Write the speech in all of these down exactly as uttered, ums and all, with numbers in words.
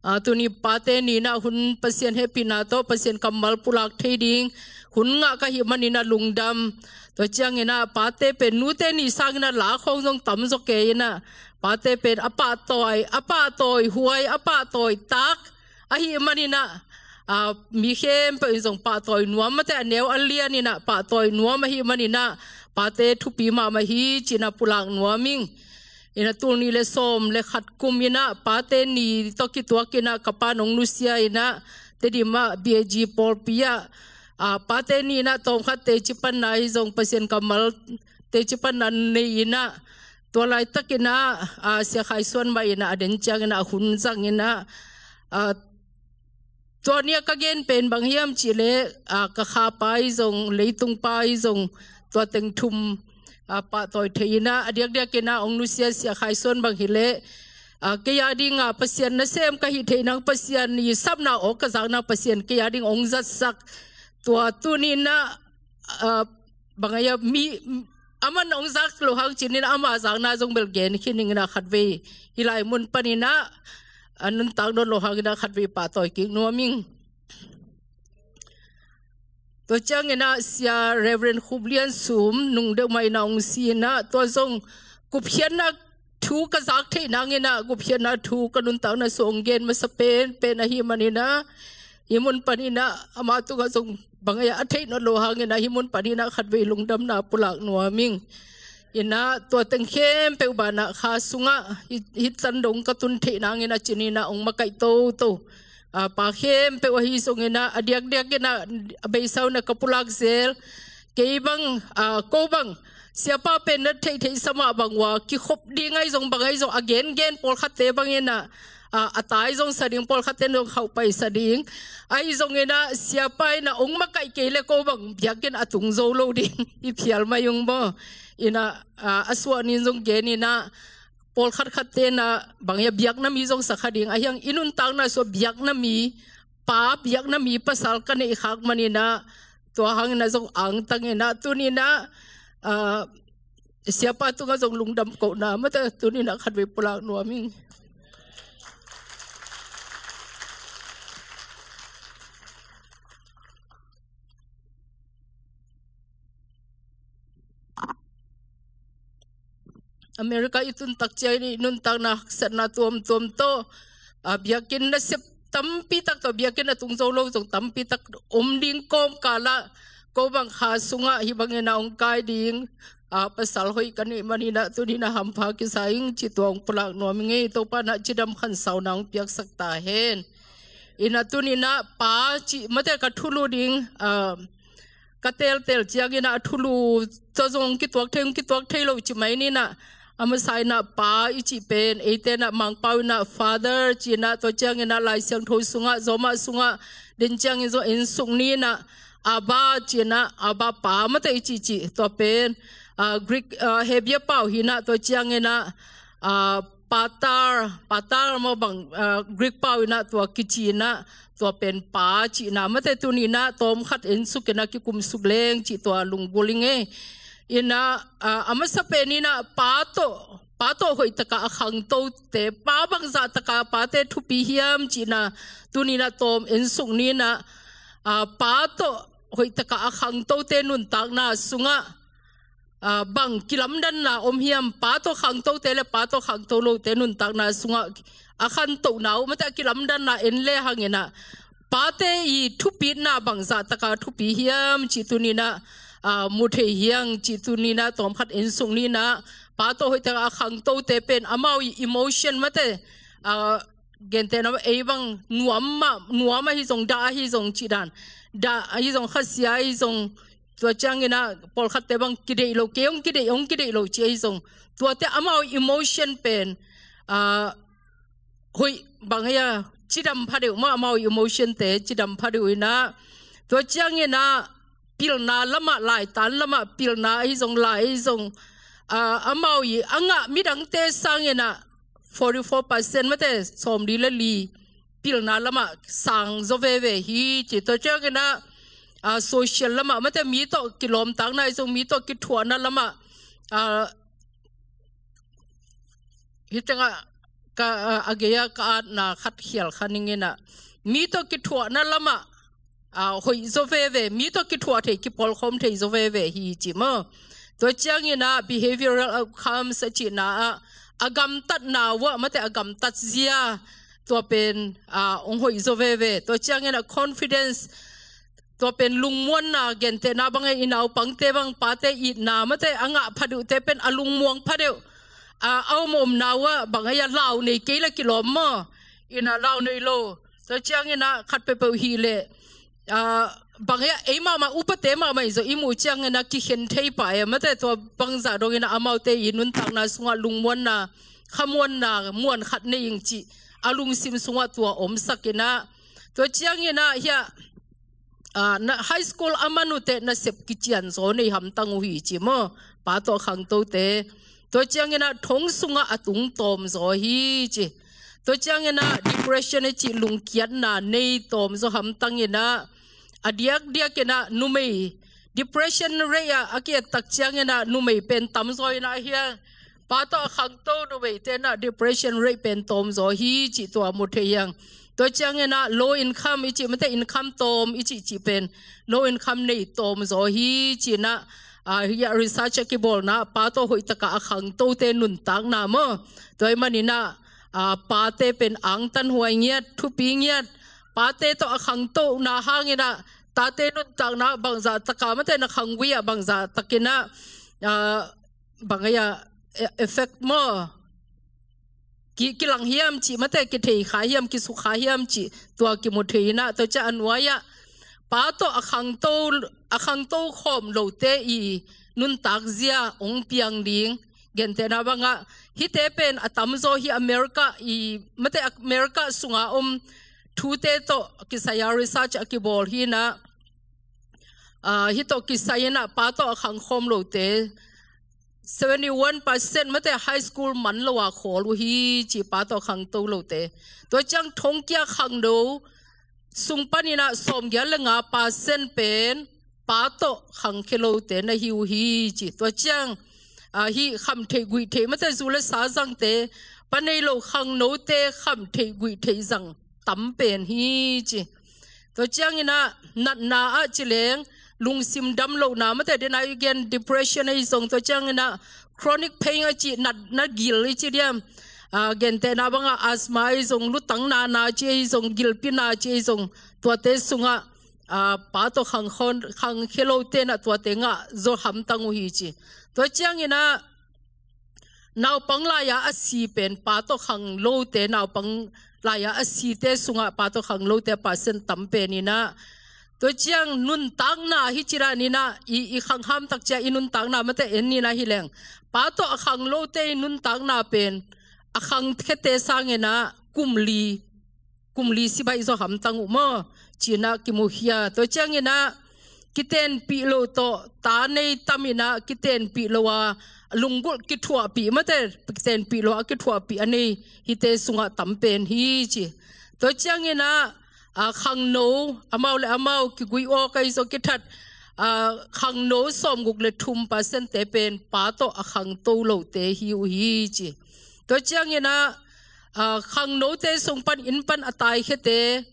Ah, tuni pate ni-in ah hun Pasian hehpihna tawh Pasian kammal pulak thei ding hun ngah ka hih manin ah lungdam. Tua ciangin ah pate pen nute ni sangin ah la khawng zong tam zaw kei in ah, pate pen a pahtawi, a pahtawi huai, a pahtawi tak ahih manin ah, ah, mi khempeuh in zong pahtawi nuam, mate a neu a lian in ah pahtawi nuam ahih manin ah pate thupi mahmah hi ci-in ah pulak nuam ing. In ah tul nih le sawm le khat kum in ah pate ni tawh kituak in ah ka pa'n hong nusia in ah Tedim ah B A G pawlpi ah, ah, pate ni-in ah tawmkhat teci panna hi zong Pasian kammal teci panna nei in ah, tua laitakin ah, ah, Sia Khai Suan mah in ah a den ciangin ah hun zang in ah, ah, tua ni-a ka gen pen bang hiam cih leh, ah, ka khapa hi zong, leitungpa hi zong, tua teng thum, ah, pahtawi thei in ah, a diakdiakin ah hong nusia Sia Khai Suan bang hi leh, ah, kei a ding ah Pasian nasem ka hih theih nang, Pasian i sapna awk ka zak nang, Pasian kei a ding hong zatsak, tua tuni-in ah, ah, bang a hia, mi, aman hong zak loh hang ci-in ah ama zakna zong bel gen khin ning in ah khatvei hih lai mun panin ah a nuntak nawn loh hangin ah khatvei pahtawi kik nuam ing. Tua ciangin ah Sia Reverend Khup Lian Sum nung deuh mah in ah hong si in ah, tua zong gupkhiatna thu ka zak theih nangin ah gupkhiatna thu ka nuntakna sung hong gen masa penpen ahih manin ah, hih mun panin ah ama tungah zong bang a hia, a theih nawn loh hangin ah hih mun panin ah khatvei lungdamna pulak nuam ing. In ah tua teng khempeuh banah kha sungah hih, hih can dong ka tun theih nangin ah ci-in ah hong makaih toto, ah, pa khempeuh ahi zongin ah, a diakdiakin ah a beisa un ah ka pulak zel, kei bang, ah, ko bang, siapa pen na theihtheihsa mah bang uh a kikhop ding ahi zong, bang ahi zong, a gengen pawlkhatte bangin ah, ah, a tai zong sa ding, pawlkhatte in zong khauhpaisa ding. Ahi zongin ah siapa in ah hong makaih kei leh ko bang biakinn a tung zo lo ding, i phial mai ung maw. In ah, ah, a suah ni-in zong gen in ah, pawlkhat khatte in ah bang a hia, biakna mi zong sa kha ding, ahih hang i nuntakna sungah biakna mi pa, biakna mi pasal ka neih khak manin ah, tua hangin ah zong angtang in ah tuni-in ah, ah, siapa tungah zong lungdam kohna mate tuni-in ah khatvei pulak nuam ing. America i tun tak ciangin i nuntakna haksatna tuamtuam tawh, ah, biakinn nasep tampi tak tawh, biakinn a tung zo lo zong tampi tak om ding kawmkal ah, ko bang kha sungah hih bangin ah hong kai ding, ah, pasal hoih ka neih manin ah tuni-in ah hampha kisa ing cih tua hong pulak nuam ing ei. Topa in ah cidam khansauna hong piaksak ta hen. In ah tuni-in ah pa cih mate ka thulu ding, ah, ka teltel ciangin ah a thulu tawh zong kituak thei, kituak thei lo ci mai ni-in ah, a masa in ah pa i cih pen eite in ah Mangpau in ah father ci-in ah, tua ciangin ah Lai Siangtho sungah, Zawmah sungah den ciangin zong en suk ni-in ah Abba ci-in ah, Abba pa mate i cihcih, tua pen, ah, Greek, ah, Hebrew pau hi-in ah, tua ciangin ah, ah, pater, pater maw bang, ah, Greek pau in ah tua kici-in ah, tua pen pa cihna mate tuni-in ah tawmkhat en suk in ah kikum suk leng cih tua lunggulh ing ei. In ah, ah, a masa pen in ah pa tawh, pa tawh hoih takah a khangtote, pa bangzah takah pate thupi hiam cihna tuni-in ah tawm en suk ni-in ah, ah, pa tawh hoih takah a khangtote nuntakna sungah, ah, bang kilamdanna om hiam, pa tawh khangtote le pa tawh khangto lote nuntakna sungah a khantohna uh mate a kilamdanna en le hangin ah, pate i thupitna bangzah takah thupi hiam cih tuni-in ah, ah, mu thei hi hang cih tuni-in ah tawmkhat en suk ni-in ah, pa tawh hoih takah a khangtote pen amau i emotion mate, ah, gentehna ei bang nuam mah, nuam ahi zong, dah ahi zong cih dan, dah ahi zong, khasia ahi zong, tua ciangin ah pawlkhatte bang kideih lo, kei hong kideih, hong kideih lo ci ahi zong, tuate amau emotion pen, ah, hoih bang a hia, cidam phadeuh maw, amau emotion te cidam phadeuh in ah, tua ciangin ah pilna lamah, laitan lamah pilna ahi zong, lai ahi zong, ah, amau i a ngah midangte sangin ah forty-four percent mate, sawmli le li pilna lamah sang zaw veve hi ci. Tua ciangin ah, ah, social lamah mate, mi tawh kilawmtatna ahi zong, mi tawh kithuahna lamah, ah, hih tengah A, a, a gei-a ka atna khat khial kha ning in ah, mi tawh kithuahna lamah, a, hoih zaw veve, mi tawh kithuah thei, kipawlkhawm thei zaw veve hi ci maw. Tua ciangin ah behavioral outcomes a cihna ah, a gamtatna uh ah, mate a gamtat zia, tua pen, a, hong hoih zaw veve. Tua ciangin ah confidence, tua pen lungmuanna, gentehna bang a i naupangte bang pate itna, mate a ngah phadeuhte pen a lungmuang phadeuh, a, a om omna uh ah bang a lau nei kei la kilawm maw. In ah lau nei lo. Tua ciangin ah khat peuhpeuh hi leh, a, bang a ei mahmah upate mahmah i zaw i muh ciangin ah kikhen thei pah e, mate tua bangzah dongin ah amaute i nuntakna sungah lungmuanna, khamuanna, muan khat nei ing cih a lungsim sungah tua omsak in ah. Tua ciangin ah hiah, a, na, high school a man uh teh nasep kician zaw nei hamtang uh hi ci maw. Pa tawh a khangtote. Tua ciangin ah thong sungah a tung tawm zaw hi ci. Tua ciangin ah depression a cih lungkiatna nei tawm zaw hamtang in ah, a diakdiak in ah numei, depression rate ah a ki-et tak ciangin ah numei pen tam zaw in ah hiang. Pa tawh a khangto numeite in ah depression rate pen tawm zaw hi cih tua mu thei hiang. Tua ciangin ah low income i cih, mate income tawm i cih cih pen low income nei tawm zaw hi ci in ah, a, hiah research a kibawlna, pa tawh hoih takah a khangtote nuntakna maw. Tua ahih manin ah, a, pate pen angtan huai ngiat, thupi ngiat, pate tawh a khangtohna hangin ah tate nuntakna bangzah takah, mate na khanggui ah bangzah takin ah, a, bang a, e-, effect maw, ki, kilang hiam cih, mate kithei kha hiam, kisuk kha hiam cih, tua kimu thei in ah. Tua ciang a nuai ah pa tawh a khangto, a khangto khawm lote i nuntak zia hong piang ding. Gentehna bang ah hihte pen a tam zaw hi America i, mate America sunga om thute tawh kisai a research a kibawl hi in ah, a, hih tawh kisai in ah pa tawh a khang khawm lote seventy one percent, mate high school man lo a khawl uh hi ci, pa tawh a khangto lote. Tua ciang thongkia khangno sung panin ah sawmgiat le nga percent pen pa tawh khangkhia lote na hi uh hi ci. Tua ciang, a, hih kham theih guih theih, mate zu le sa zangte, pa nei lo khangnote kham theih guih theih zang tam pen hi ci. Tua ciangin ah natna ah ci leng lungsim dam lohna, mate dena i gen depression ahi zong, tua ciangin ah chronic pain a cih natna gil i ci diam. A, gentehna bang ah asthma ahi zong, lutang nana ci ahi zong, gilpi na ci ahi zong, tuate sungah, a, pa tawh khang khon, khangkhia lote in ah tuate ngah zaw hamtang uh hi ci. Tua ciangin ah naupang lai-a a si pen, pa tawh khang lote, naupang lai-a a site sungah pa tawh khang lote a percent tam pen in ah. Tua ciang nuntakna hi ci dan in ah, i, i khang ham tak ciang i nuntakna, mate en in ah hi leng, pa tawh a khang lote i nuntakna pen a khangkhiate sangin ah kum li, kum li si baih zaw hamtang uh maw, ci in ah kimukhia. Tua ciangin ah kitenpih lo tawh, ta nei tam in ah kitenpih lo a lunggulh kithuahpih, mate kitenpih lo a kithuahpih a nei hihte sungah tam pen hi ci. Tua ciangin ah, a, khangno, amau le amau kigui awk ahi zong kithat, a, khangno sawmguk le thum percent-te pen pa tawh a khangto lote hi uh hi ci. Tua ciangin ah, a, khangnote sung pan inn pan a taikhiate,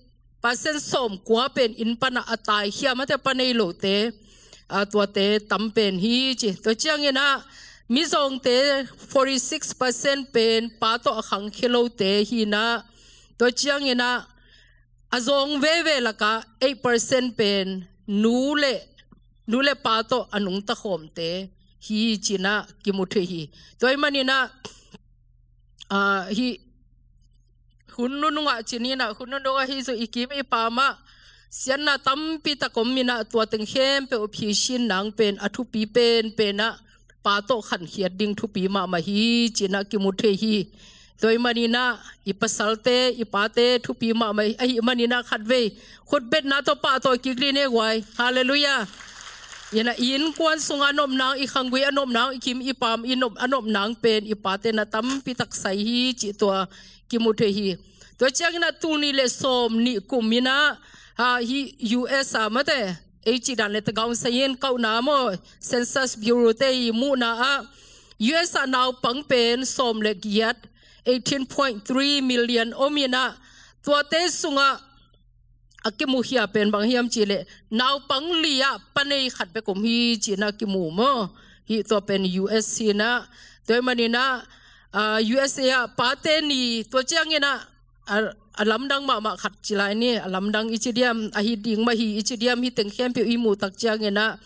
percent sawmkua pen inn pan ah a taikhia, mate pa nei lote, a, tuate tam pen hi ci. Tua ciangin ah mizawngte forty six percent pen pa tawh a khangkhia lote hi in ah, tua ciangin ah a zawng veve lakah eight percent pen nu le, nu le pa tawh a nungta khawmte hi ci in ah kimu thei hi. Tua ahih manin ah, a, hih hun nunung ah ci ni in ah, hun nunung ah hih zong i kim i pam ah siatna tampi tak om in ah, tua teng khempeuh phisin nang pen a thupi penpen ah pa tawh khankhiat ding thupi mahmah hi ci in ah kimu thei hi. Tua ahih manin ah i pasalte, i pate thupi mahmah ahih manin ah khatvei khutbetna tawh pahtawi kik ni e guai. Halleluiah. In ah i innkuan sungah a nopna, i khanggui a nopna, i kim i pam i nop, a nopna pen i pate na tampi tak sai hi cih tua kimu thei hi. Tua ciangin ah tul nih le sawmnih kum in ah, a, hih U S ah, mate, ei cih dan le tagaung sayin kauhna maw, Census Bureau-te i muhna ah U S ah naupang pen sawm le giat, eighteen point three million om inah, tuate sungah a kimukhia pen bang hiam cihleh naupang li-ah panei khat bek om hi ci-inah kimu maw. Hih tua pen U S hi inah, tua ahih maninah, ah, U S A ah pate ni, tua cianginah a, a lamdang mahmah khat ci lai ni, a lamdang i ci diam, ahi ding mah hi i ci diam, hih teng khempeuh i muh tak cianginah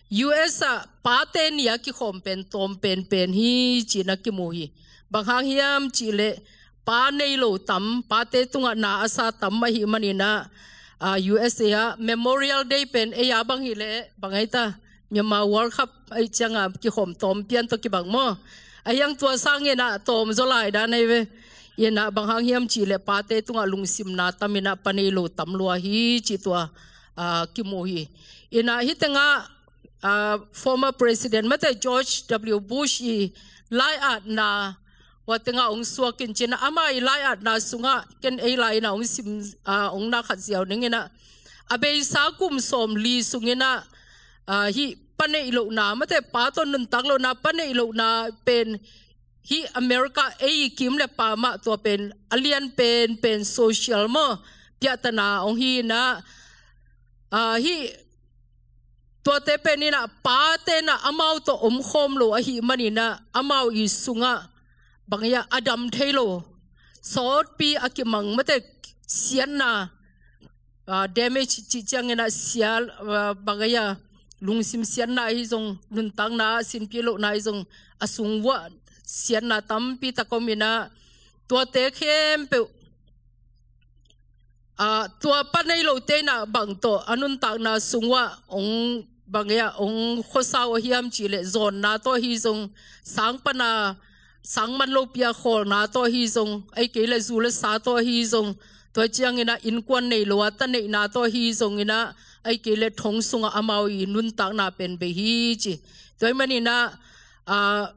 U S ah pate ni a kikhawm pen tawm penpen hi ci-inah kimu hi. Bang hang hiam cihleh pa nei lo tam, pate tungah na a sa tam ahih maninah, ah, U S A ah Memorial Day pen ei a bang hileh bang ai ta, Myanmar World Cup ahih ciangah kikhawm tawm pian tawh kibang maw. Ahi hang tua sanginah tawm zaw lai dan ahi ve. Inah bang hang hiam cihleh pate tungah lungsimna tam inah pa nei lo tam lua hi ci tua, ah, kimu hi. Inah hih tengah, ah, former president mate George W Bush i lai-atna hua tengah hong suakin ci-inah ama i lai-atna sungah ken ei lai-inah hong sim, ah, hong na khat ziau ninginah a beisa kum sawmli sunginah, ah, hih pa neih lohna mate pa tawh nuntak lohna, pa neih lohna pen hih America ei i kim le pa mah tua pen a lian penpen social maw, piahtana hong hi inah, ah, hih tuate pen inah pate inah amau tawh omkhawm lo ahih maninah amau i sungah bang hiam a dam thei lo, sawtpi a kimang mate siatna, ah, damage cih cianginah sial, ah, bang hiam lungsim siatna ahi zong, nuntakna sinpi lohna ahi zong, a sung vuah siatna tampi tak om inah tuate khempeuh, ah, tua pa nei lote inah bang tawh a nuntakna sung uah hong bang hiam hong khuasa uh a hiam cihleh zawnna tawh ahi zong, sang pana sang man lopi a khawlna tawh ahi zong, ahih kei leh zu le sa tawh ahi zong, tua cianginah innkuan nei lo a ta neihna tawh ahi zonginah, ahih kei leh thong sungah amau i nuntakna pen bei hi ci. Tua ahih maninah, ah,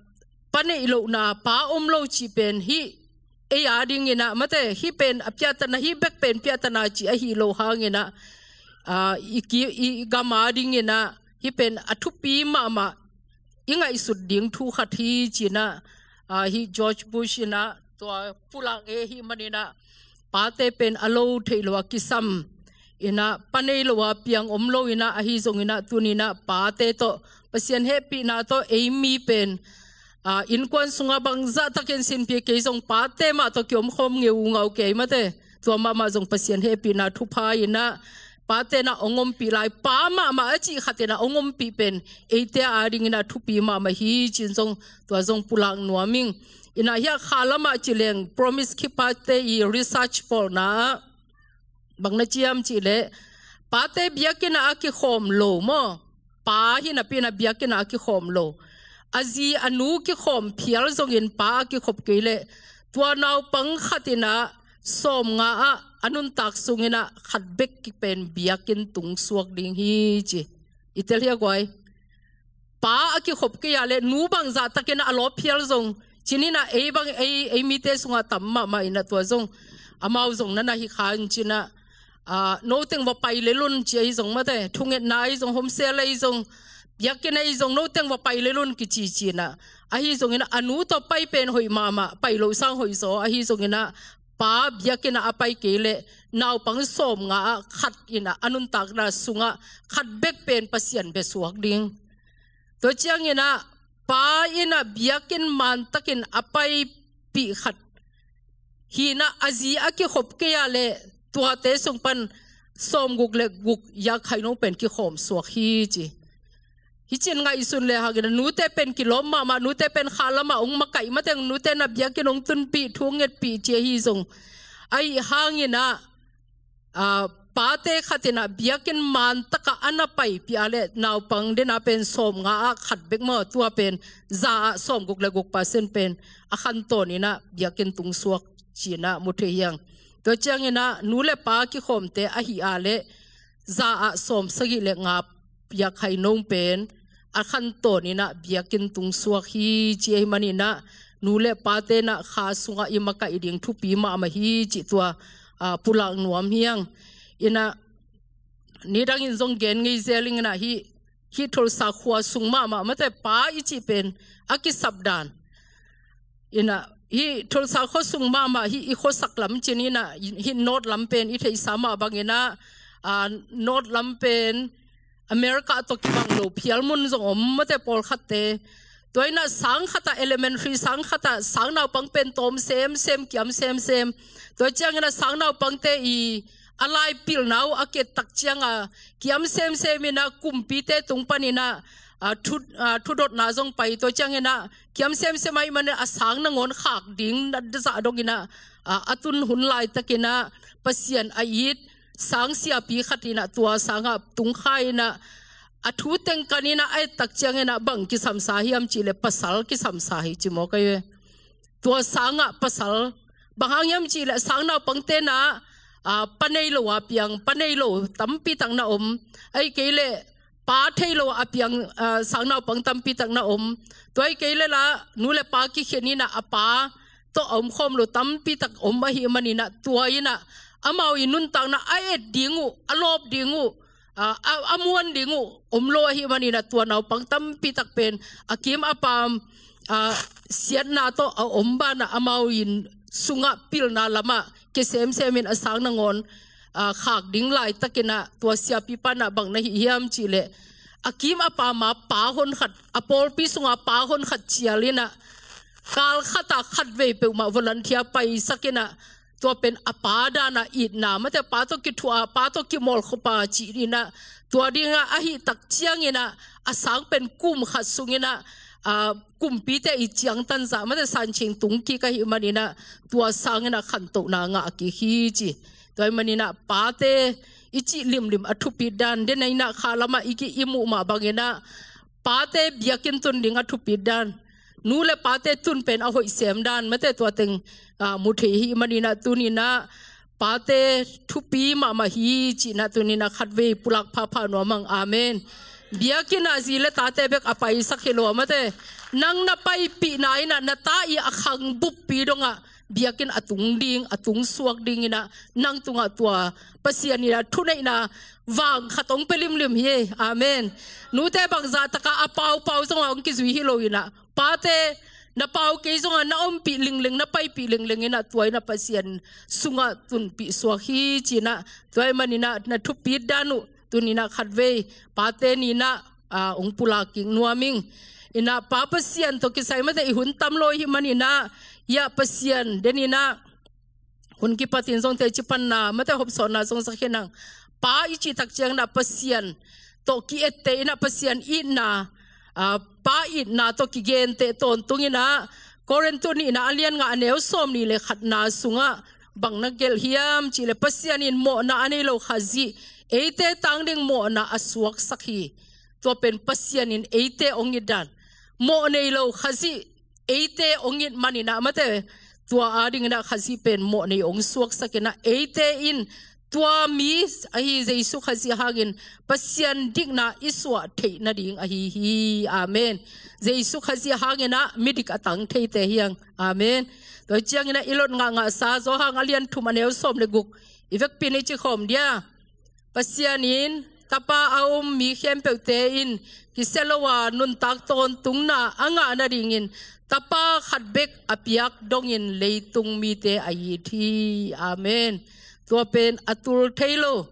pa neih lohna, pa om lo cih pen hih ei a dinginah mate, hih pen a piahtana, hih bek pen piahtana cih ahi lo hanginah, ah, i ki, i gam a dinginah hih pen a thupi mahmah, i ngaihsut ding thu khat hi ci-inah, ah, hih George Bush inah tua pulak e, ahih maninah pate pen a lo theih lo a kisam inah, pa nei lo a piang om lo inah, ahi zonginah tuninah pate tawh Pasian hehpihna tawh ei mi pen, ah, innkuan sungah bangzah takin sinpi kei zong pate mah tawh kiomkhawm ngeungau kei mate, tua mahmah zong Pasian hehpihna thupha inah pate inah hong ompih lai, pa mahmah a cih khat inah hong ompih pen eite a dinginah thupi mahmah hi ci-in zong tua zong pulak nuam ing. Inah hiah kha lamah ci leng Promise Keeper-te i research pawlna ah bang na ci hiam cihleh, pate biakinn ah a kikhawm lo maw, pa hi napi inah biakinn ah a kikhawm lo, a zi a nu kikhawm phial zongin pa a kikhop kei leh tua naupang khat inah sawmnga ah a nuntak sunginah khat bek pen biakinn tung suak ding hi ci. I tel hia guai? Pa a kikhop kei a leh nu bangzah takin a lawp phial zong, ci-in inah ei bang, ei, ei mite sungah tam mahmah inah tua zong, amau zong na na hi kha in ci-inah, ah, no teng va pai lel un ci ahi zong mate, thungetna ahi zong, home cell ahi zong, biakinn ahi zong, no teng va pai lel un kici ci-inah. Ahi zonginah a nu tawh pai pen hoih mahmah, pai loh sang hoih zaw, ahi zonginah pa biakinn ah a pai kei leh naupang sawmnga ah khat inah a nuntakna sungah khat bek pen Pasian bia suak ding. Tua cianginah pa inah biakinn mantakin a paipih khat hi inah a zi a kikhop kei a leh tuate sung pan sawmguk le guk yak khainung pen kikhawm suak hi ci. Hih ci-in ngaihsun le hangin nute pen kilawm mahmah, nute pen kha lamah hong makaih mateng, nute inah biakinn hong tunpih, thu hong ngetpih ci ahi zong, ahi hanginah, ah, pate khat inah biakinn mantakah a na paipih a leh naupang dena pen sawmnga ah khat bek maw, tua pen za ah sawmguk le guk percent pen a khantawn inah biakinn tung suak ci-inah mu thei hi hang. Tua cianginah nu le pa kikhawmte ahi a leh za ah sawmsagih le nga piak hai nong pen a khantawn inah biakinn tung suak hi ci ahi maninah nu le pate inah kha sungah i makaih ding thupi mahmah hi cih tua, ah, pulak nuam hi hang. Inah nidangin zong gen ngei zel ing inah hih, hih Tulsa khua sung mahmah mate pa i cih pen a kisap dan inah Hih Tulsa khuasung mahmah hih i khuasak lam cih inah, hih North lam pen i theihsa mah bang inah, aa, North lam pen America tawh kibang lo phial mun zong om mate pawlkhatte. Tua inah sang khatah elementary sang khatah sang naupang pen tawm semsem, kiam semsem. Tua ciang inah sang naupangte i a lai pilna uh a kiat tak ciang a kiam semsem inah kumpite tung pan inah, aa, thu, aa, thudotna zong pai. Tua ciang inah kiam semsem ahih manin a sang nangawn khak ding na zah dong inah, aa, a tun hun laitak inah Pasian a it sang siapi khat inah tua sangah tung kha inah a thu teng kan inah a et tak ciang inah bang kisamsa hiam cih leh pasal kisamsa hi ci maw ka hi ve. Tua sangah pasal, bang hang hiam cih leh sang naupangte inah, aa, pa nei lo a piang, pa nei lo tampi tak na om. Ahih kei leh pa thei lo a piang, aa, sang naupang tampi tak na om. Tua ahih kei leh la nu le pa kikhen inah a pa tawh a omkhawm lo tampi tak om ahih man inah tua inah amau i nuntakna a et ding uh, a lawp ding uh, aa, a, a muan ding uh om lo ahih man inah tua naupang tampi tak pen a kim a pam, aa, siatna tawh a om banah amau in sungah pilna lamah kia semsem in a sang nangawn, aa, khak ding laitak inah tua siapipa inah bang na hih hiam cih leh a kim a pam a pa hon khat, a pawlpi sungah pa hon khat cial inah kal khatah khatvei peuhmah volunteer paisak inah tua pen a pa dan a itna mate, pa tawh kithuah a, pa tawh kimawlkhop a cih inah tua dingah ahih tak ciang inah a sang pen kum khat sung inah, aa, kumpite i ciangtan zah mate sancing tung kik ahih man inah tua sang inah khantohna ngah kik hi ci. Tua ahih man inah pate i cih limlim a thupit dan, den a inah kha lamah i ki i muh mah bang inah pate biakinn tun ding a thupit dan, nu le pate tun pen a hoih sem dan mate tua teng, aa, mu thei hi man inah tuni inah pate thupi mahmah hi cih inah tuni inah khatvei pulak phapha nuam ang. Amen. Biakinn ah zi le tate bek a paisak hi lo mate, nang na paipihna inah na ta i a khang buppi dongah biakinn a tung ding, a tung suak ding inah nang tungah tua Pasian inah thuneihna vang khat hong pia limlim hi. Amen. Nute bangzah takah a paupau zongah hong kizui hi lo inah pate na pau kei zongah na ompih lingling, na paipih lingling inah tua inah Pasian sungah tunpih suak hi ci inah tua ahih man inah na thupit dan uh tuni inah khatvei pate ni inah, aa, hong pulak kik nuam ing. Inah Pa Pasian tawh kisai mate i hun tam lo ahih man inah, hiah Pasian den inah hun kipatin zong teci panna mate hopsawnna zong sa khin ang. Pa i cih tak ciang inah Pasian tawh ki-etteh inah Pasian itna, aa, pa itna tawh kigenteh tawntung inah Korintu nihna a lian nga a neu sawmnih le khatna sungah bang na gelh hiam cih leh Pasian in mawhna a nei lo Khazih eite tang ding mawhna a suaksak hi. Tua pen Pasian in eite hong it dan. Mawh nei lo Khazih eite hong it man inah mate tua a ding inah Khazih pen mawh nei hong suaksak inah eite in tua mi ahi Jesu Khazih hangin Pasian dikna i suah theih nading ahi hi. Amen. Jesu Khazih hang inah midik a tang theite hi ang. Amen. Tua ciang inah i lot ngahngahsa Johan a lian thum a neu sawm le guk i vekpi in i ci khawm dia. Pasian in Tapa a um mi khempeuhte in kisia lo a nuntak tawntungna a ngah nadingin Tapa khat bek a piak dongin leitung mite a it hi. Amen. Tua pen a tul thei lo,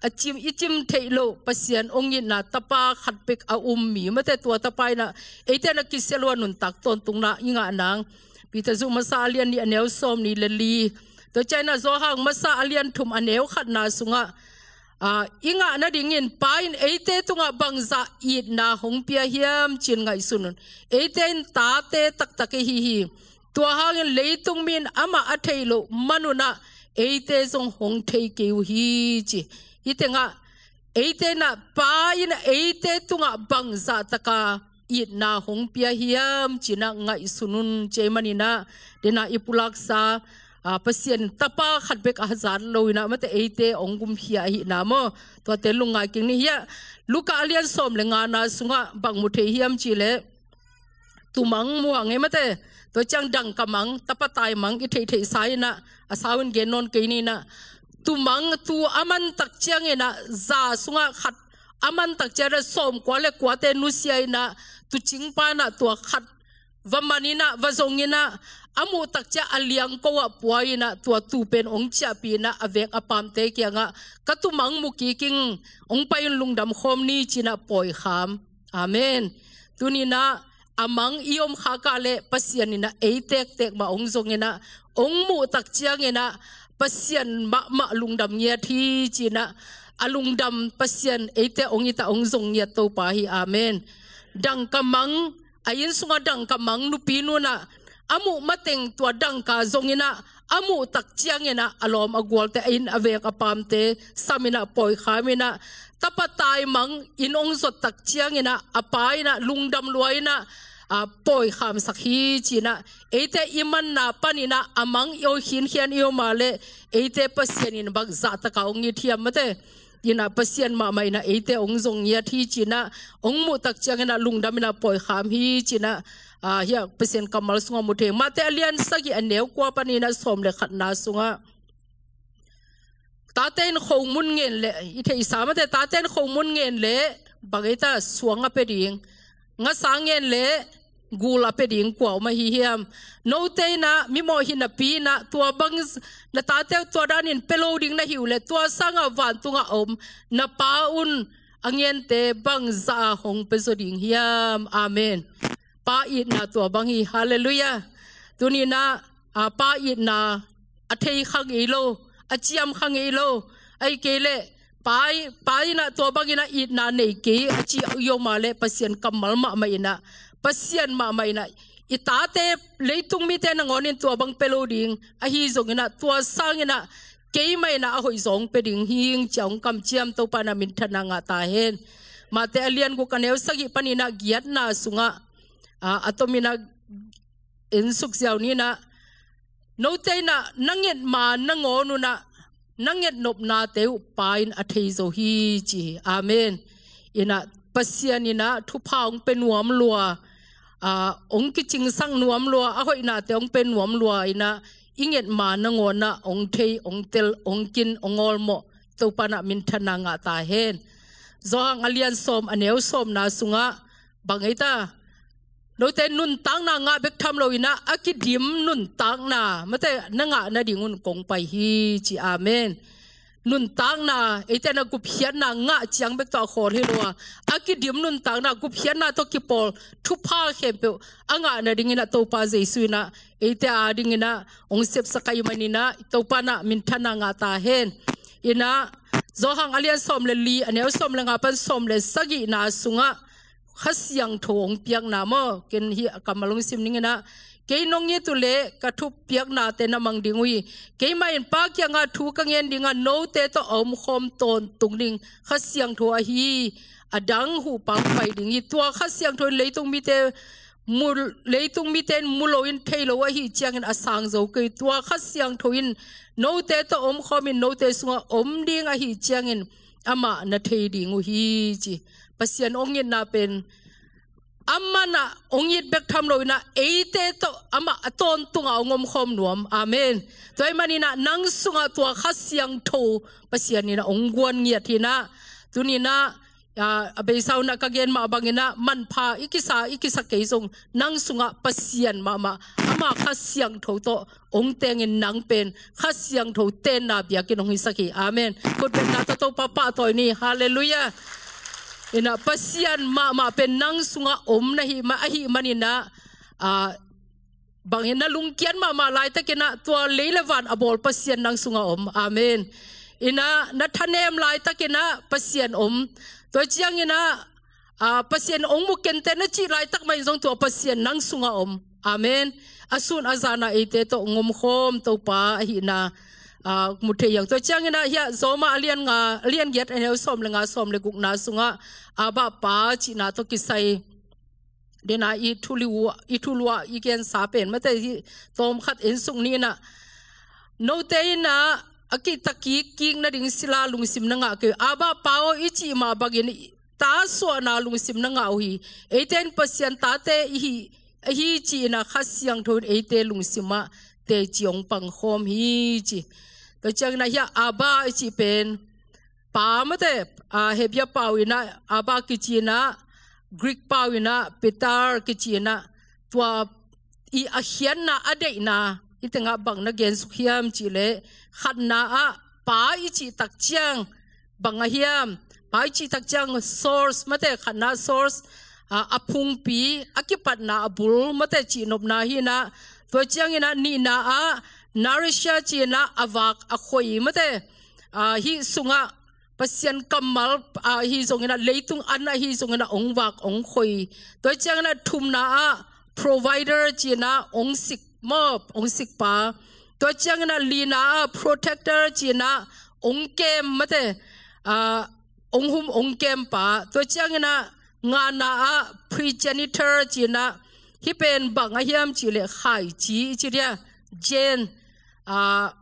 a cim, i cim theih loh Pasian hong itna Tapa khat bek a um mi mate tua Tapa inah eite na kisia lo a nuntak tawntungna i ngah nang. Peter zuh masa a lian nih a neu sawmnih le li, tua ciang inah Johan masa a lian thum a neu khatna sungah, aa, i ngah nadingin Pa in eite tungah bangzah itna hong pia hiam ci-in ngaihsun un. Eite in tate taktak i hi hi. Tua hangin leitung mi in amah a theih loh manunah eite zong hong thei kei uh hi ci. Hih tengah eite inah Pa in eite tungah bangzah taka itna hong pia hiam ci-inah ngaihsun un ci ahih man inah dena i pulaksa, aa, Pasian Tapa khat bek a hazat lo inah mate eite hong gumkhia ahihna maw? Tuate lungngai kik ni. Hiah Luka a lian sawm le ngana sungah bang mu thei hiam cih leh tumang mu hang e mate. Tua ciang dangka mang, tapa taimang i theihtheihsa inah a sau in gen nawn kei ni inah tumang, tu a man tak ciang inah za sungah khat a man tak ciang inah sawmkua le kuate nusia inah tuucingpa inah tua khat va man in ah, va zong in ah, a muh tak ciang a liangko ah pua in ah, tua tuu pen hong ciahpih in ah, a vek a paamte kiangah, ka tuumang mu kik ing, hong pai un, lungdam khawm ni ci in ah pawi kham. Amen. Tuni in ah a mang i om khak ah leh Pasian in ah ei tektek mah hong zong in ah, hong muh tak ciangin ah Pasian mahmah lungdam ngiat hi ci in ah, a lungdam Pasian eite hong it ah hong zong ngiat Topa hi. Amen. Dangka mang, a inn sungah dangka mang nupi nu in ah a muh mateng tua dangka zong in ah, a muh tak ciangin ah a lawm a gualte, a inn a vek a paamte sam in ah pawi kham in ah, tapa taimang inn hong zot tak ciangin ah a pa in ah lungdam lua in ah, a, pawi khamsak hi ci in ah, eite i manna panin ah a mang i om khinkhian i om ah leh, eite Pasian in bang zahtak a hong it hiam, mate. In ah Pasian mahmah in ah eite hong zong ngiat hi ci in ah, hong muh tak ciangin ah lungdam in ah pawi kham hi ci in ah, a, hiah Pasian kammal sungah mu thei. Matthai a lian sagih, a neu kua panin ah sawm le khatna sungah, tate in khomun ngen leh, i theihsa, mate, tate in khomun ngen leh bang ei ta, suang a pia ding, ngasa ngen leh gul a pia ding kua om ahi hiam? Note in ah mimawh hi napi in ah, tua bang z-, na tate uh tua danin pia lo ding na hi uh leh, tua sangah vantungah a om na Pa un a ngente bang zah a hong pia zaw ding hiam? Amen. Pa itna tua bang hi. Halleluiah. Tuni in ah, a, Pa itna a thei kha ngei lo, a ciam kha ngei lo. Ahih kei leh Pa i-, Pa in ah tua bang in ah itna nei kei a ci i om ah leh, Pasian kammal mahmah in ah, Pasian mahmah in ah, i tate, leitung mite nangawn in tua bang pia lo ding, ahi zong in ah tua sangin ah keimah in ah a hoih zaw hong pia ding hi ing ci a hong kamciam Topa in ah minthanna ngah ta hen. Matthai a lian guk, a neu sagih panin ah giatna sungah, a, a tom in ah en suk ziau ni in ah, note in ah na nget ma nangawn un ah na nget nopnate uh Pa in a thei zo hi ci hi. Amen. In ah Pasian in ah thupha hong pia nuam lua, a, hong kicingsak nuam lua, a hoihnate hong pia nuam lua in ah, i nget ma nangawn ah hong thei, hong tel, hong kin, hong awlmawh Topa in ah minthanna ngah ta hen. Johan a lian sawm, a neu sawmna sungah bang ei ta, note nuntakna ngah bek tham lo in ah, a kidim nuntakna, mate, na ngah nading un kong pai hi ci. Amen. Nuntakna, eite in ah gupkhiatna ngah ciang bek tawh a khawl hi lo a, a kidim nuntakna, gupkhiatna tawh kipawl thupha khempeuh a ngah nading in ah Topa Jesu in ah eite ading in ah hong sepsak ahih manin ah Topa in ah minthanna ngah ta hen. In ah Johan a lian sawm le li, a neu sawm le nga pan sawm le sagihna sungah Kha Siangtho hong piakna maw? Ken hih a kammal hong sim ning in ah, kei nong it uh leh ka thupiaknate na mang ding uh hi. Keimah in Pa kiangah thu ka ngen ding a, note tawh a omkhawm tawntung ding Kha Siangtho ahi a dang Huhpa hong pai ding hi. Tua Kha Siangtho in leitung mite mu, leitung mite in mu lo in, thei lo ahih ciangin a sang zo kei. Tua Kha Siangtho in note tawh omkhawm in, note sungah om ding ahih ciangin amah na thei ding uh hi ci. Pasian hong itna pen amah in ah hong it bek tham lo in ah, eite tawh amah a tawntungah hong omkhawm nuam. Amen. Tua ahih manin ah nang sungah tua Kha Siangtho Pasian in ah hong guan ngiat hi in ah, tuni in ah, a, a beisa un ah ka gen mah bangin ah, manpha i kisa, i kisa kei zong, nang sungah Pasian mahmah, ama Kha Siangtho tawh hong tengin nang pen Kha Siangtho tenna biakinn hong hisak hi. Amen. Khutbetna tawh Topa pahtawi ni. Halleluiah. In ah Pasian mahmah pen nang sungah om na hih ma, ahih manin ah, a, bangin na lungkiat mahmah laitakin ah, tua lei le van a bawl Pasian nang sungah om. Amen. In ah na thanem laitakin ah Pasian om. Tua ciangin ah, a, Pasian hong mu kei inteh na cih laitak mah in zong tua Pasian nang sungah om. Amen. A sun a zan ah eite tawh hong omkhawm Topa ahihna, a, mu thei hi hang. Tua ciangin ah hiah Rom a lian nga, a lian giat, a neu sawm le nga, sawm le gukna sungah Abba Pa cihna tawh kisai den a i thulu, i thulu ah i gensa pen, mate, hih tawm khat en suk ni in ah, note in ah a kihta kik kik nading sila lungsim na ngah kei uh. Abba Pa aw i cih mah bangin ta suahna lungsim na ngah uh hi. Eite in Pasian tate i hi, ahi ci-in ah Kha Siangtho in eite lungsim ah teci hong pangkhawm hi ci. Tua ciangin ah hiah Abba i cih pen Pa, mate, a, Hebrew pau in ah Abba kici in ah, Greek pau in ah Pater kici in ah, tua i a khiatna a deihna, hih tengah bang na gensuk hiam cihleh, khatna ah pa i cih tak ciang bang a hiam? Pa i cih tak ciang source mate, khatna source, a, a phungpi, a kipatna a bul mate cihnopna hi inah, tua cianginah nihna ah nourisher ci inah a vak a khoi mate, a, hih sungah Pasian kammal, a, hi zonginah leitung an ahi zonginah ong vak ong khoi. Tua cianginah thumna ah provider ci inah ong sik mawp, ong sikpa. Tua cianginah lina ah protector ci inah ong kem mate, a, ong hum ong kempa. Tua cianginah ngana ah progenitor ci inah, hih pen bang a hiam cihleh khaici i ci dia, gen, a,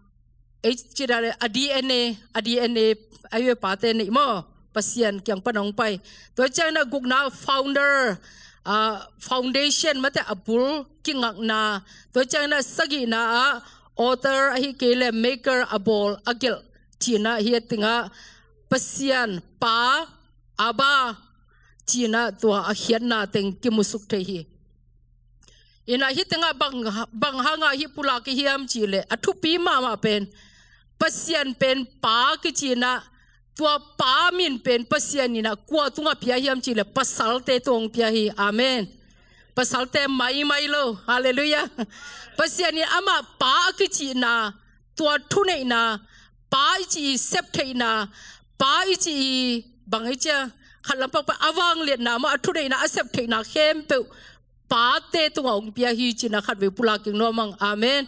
ei ci dia le a D N A, a D N A a hi ve, pate neih maw, Pasian kiang pan ong pai. Tua cianginah gukna founder, a, foundation mate, a bul kingakna. Tua cianginah sagihna ah author, ahih kei le maker, a bawl a gelh ci inah, hih a tengah Pasian pa, Abba ci inah tua a khiatna teng kimusuk thei hi. Inah hih tengah bang, bang hangah hih pulak i hiam cihleh, a thupi mahmah pen Pasian pen pa kici inah, tua pa min pen Pasian inah kua tungah pia hiam cihleh, pasalte tungah pia hi. Amen. Pasalte maimai lo. Halleluiah. Pasian in amah pa a kicihna, tua thuneihna, pa i cih i septheihna, pa i cih i bang i cia, khat lampak pa a vangliatna maw, a thuneihna, a septheihna khempeuh pate tungah ong pia hi ci inah khatvei pulak kik nuam ing. Amen.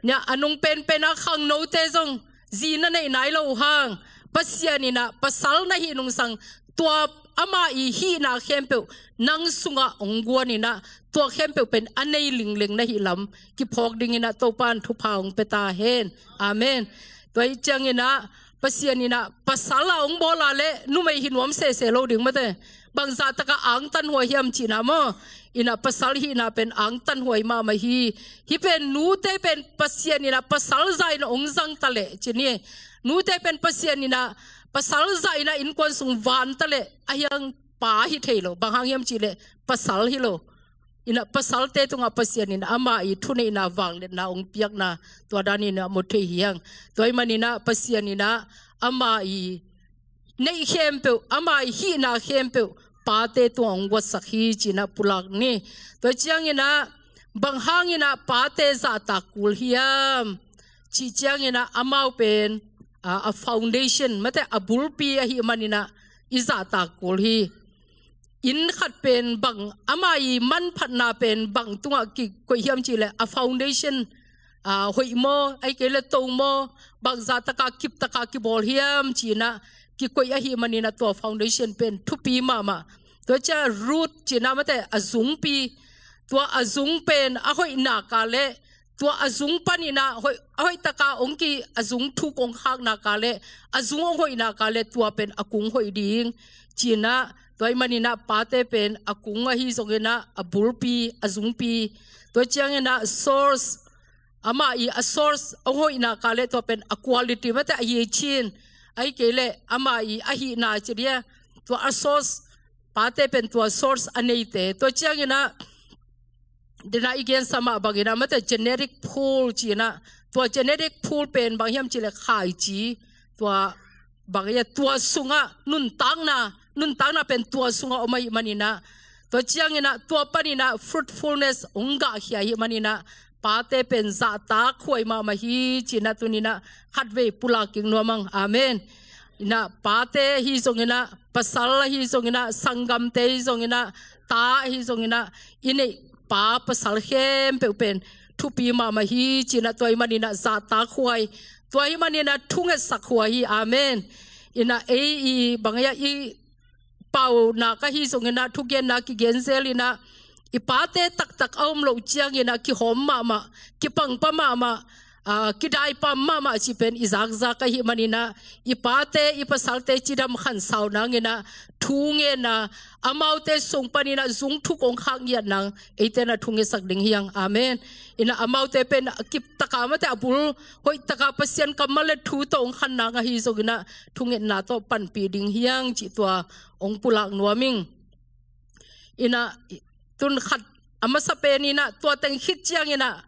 Nia, a nung penpen a khangnote zong zi na neih nai lo uh hang, Pasian inah pasal na hih nungsang, tua ama i hihna khempeuh nang sungah ong guan inah, tua khempeuh pen a nei lingleng na hih lam kiphawk ding inah Topa in thupha ong pia ta hen. Amen. Tua hi cianginah Pasian inah pasal a ong bawl a leh numei hi nuam sese lo ding mate. Bangzah takah angtanhuai hiam cihna maw? Inah pasal hihna pen angtanhuai mahmah hi. Hih pen nute pen Pasian inah pasal zah inah ong zang ta leh ci ni. Nute pen Pasian inah pasal zah inah innkuan sung van ta leh, a hiang pa hi thei lo. Bang hang hiam cihleh, pasal hi lo. Inah pasalte tungah Pasian inah ama i thuneihna, vangliatna ong piakna, tua dan inah mu thei hi hang. Tua ahih man inah Pasian inah ama i neih khempeuh, ama i hihna khempeuh pate tungah ong guatsak hi ci inah pulak ni. Tua cianginah bang hang inah pate zahtak kul hiam cih cianginah, amau pen, a, a foundation mate, a bulpi ahih man inah i zahtak kul hi. Inn khat pen bang, ama i manphatna pen bang tungah kikoih hiam cihleh, a foundation, a, hoih maw, ahih kei le to maw, bangzah takah kip takah kibawl hiam ci inah kikoih ahih man inah tua foundation pen thupi mahmah. Tua ciah root ci inah mate, a zungpi. Tua a zung pen a hoih nak a leh, tua a zung pan inah hoih, a hoih takah ong ki, a zung thuk ong khak nak a leh, a zung ong hoih nak a leh, tua pen a kung hoih ding ci inah. Tua ahih man inah pate pen a kung ahi zonginah a bulpi, a zungpi. Tua cianginah source, ama i a source ong hoih nak a leh, tua pen a quality mate, a hicin, ahih kei leh ama i a hihna ci dia, tua a source, pate pen tua source a neite. Tua cianginah, dena i gensa mah bang inah mate, genetic pool ci inah, tua genetic pool pen bang hiam cihleh, khaici, tua bang ia, tua sungah nuntakna, nuntakna pen tua sungah om ahih man inah, tua cianginah tua pan inah fruitfulness ong gahkhia ahih man inah, pate pen zahtak huai mahmah hi ci inah tuni inah khatvei pulak kik nuam ing. Amen. Inah pate ahi zonginah, pasal ahi zonginah, sanggamte ahi zonginah, ta ahi zonginah, i neih pa pasal khempeuh pen thupi mahmah hi ci inah, tua ahih man inah zahtak huai, tua ahih man inah thungetsak huai hi. Amen. Inah ei i bang ia, i pau nak ahi zonginah, thugenna kigen zel inah, i pate taktak a om loh cianginah kihawm mahmah, kipangpa mahmah, a, kidaipam mahmah cih pen i zakzak ahih man inah, i pate, i pasalte cidam khansau nang inah, thungetna, amaute sung pan inah zung thuk ong khak ngiat nang, eite inah thungetsak ding hi hang. Amen. Inah amaute pen a kip takah mate, a bul hoih takah Pasian kammal le thu tawh ong khan nang ahi zonginah, thungetna tawh panpih ding hi hang cih tua ong pulak nuam ing. Inah tun khat, a masa pen in ah tua teng khit ciangin ah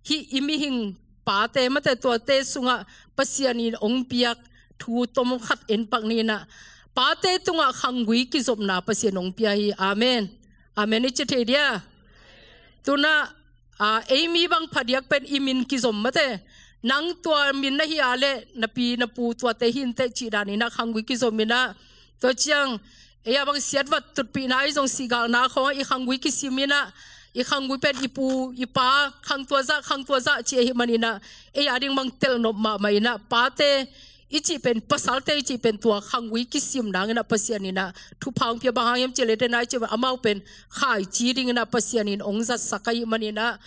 hih i mihing pate mate tuate sungah Pasian in hong piak thu tom khat en pak ni in ah, pate tungah khanggui kizopna Pasian hong pia hi. Amen. Amen i ci thei dia. Tu in ah, aa, ei mi bang phadiak pen i min kizom mate. Nang tua min na hi a leh na pi na pu tuate hi inteh cih dan in ah khanggui kizom in ah, tua ciang ei a bang siatvat tutpihna ahi zong, sihgalna khawng ah i khanggui kisim in ah, i khanggui pen i pu i pa khang tua zah, khang tua zah ci ahih man in ah, ei a ding bang telnop mahmah in ah, pate i cih pen, pasalte i cih pen tua khanggui kisim nang in ah Pasian in ah thupha hong pia. Bang hang hiam cih leh, te nai cih pen amau pen khaici ding in ah Pasian in hong zatsak ahih man in ah,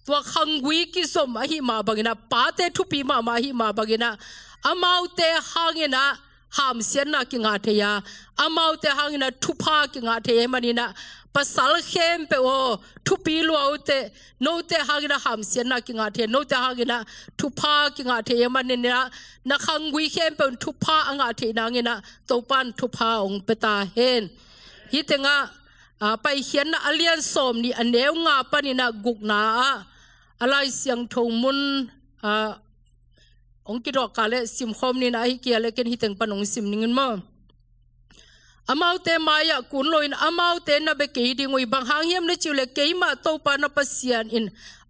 tua khanggui kizom ahih mah bang in ah, pate thupi mahmah ahih mah bang in ah, amaute hang in ah hamsiatna kingah thei a, amaute hang in ah thupha kingah thei ahih man in ah, pasal khempeuh aw, thupi lua uh teh, note hang in ah hamsiatna kingah thei, note hang in ah thupha kingah thei ahih man in ah, na khanggui khempeuh in thupha a ngah theih nang in ah Topa in thupha hong pia ta hen. Hih teng ah, aa, Paikhiatna a lian sawmnih, a neu nga pan in ah gukna ah, a Lai Siangtho mun, aa, hong kidawk kha leh sim khawm ni in ah, ahih kei leh ken hih teng pan hong sim ning in maw. Amaute mai-ah kun loin amaute na bia kei ding uh hi. Bang hang hiam na cih uh leh, keimah Topa na Pasian in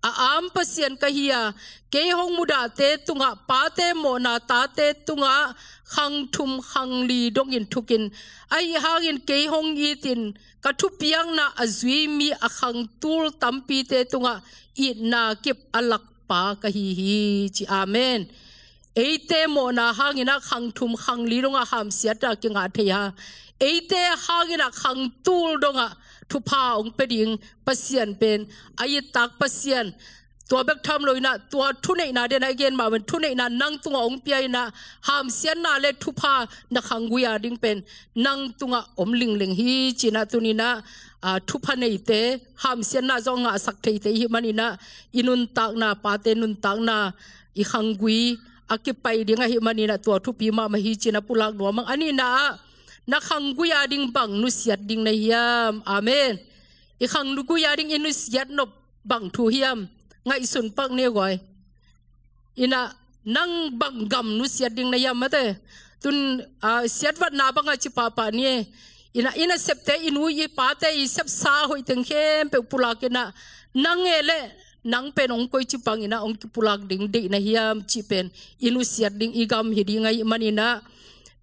a am Pasian ka hi a, kei hong mudahte tungah pate mawhna, tate tungah khang thum khang li dongin thukin, ahih hangin kei hong itin ka thupiakna a zui mi a khang tul tampite tungah itna kip a lak pa ka hi hi, ci. Amen. Eite mawhna hang in ah khang thum khang li dongah hamsiatna kingah thei a, eite hang in ah khang tul dongah thupha hong pia ding Pasian pen a ittak Pasian. Tua bek tham lo in ah, tua thuneihna, den a i gen mah bangin thuneihna nang tungah hong pia in ah, hamsiatna leh thupha na khanggui a ding pen nang tungah om lingleng hi, ci in ah tuni in ah, aa, thupha neite, hamsiatna zong ngahsak theite i hih man in ah, i nuntakna, pate nuntakna, i khanggui a kipai ding ahih man in ah, tua thupi mahmah hi, ci in ah pulak nuam ing. A nihna ah, na khanggui a ding bang nusiat ding na hiam? Amen. I khanggui a ding i nusiat nop bang thu hiam? Ngaihsun pak ni guai. In ah nang bang gam nusiat ding na hiam mate. Tu in, aa, siatvatna bang a ci pahpah ni. In ah, i nasepte, i nu i pate i sepsa hoih teng khempeuh pulak in ah, nang e leh nang pen hong koici bang in ah hong kipulak ding deih na hiam cih pen i nusiat ding i gam hi ding ahih man in ah,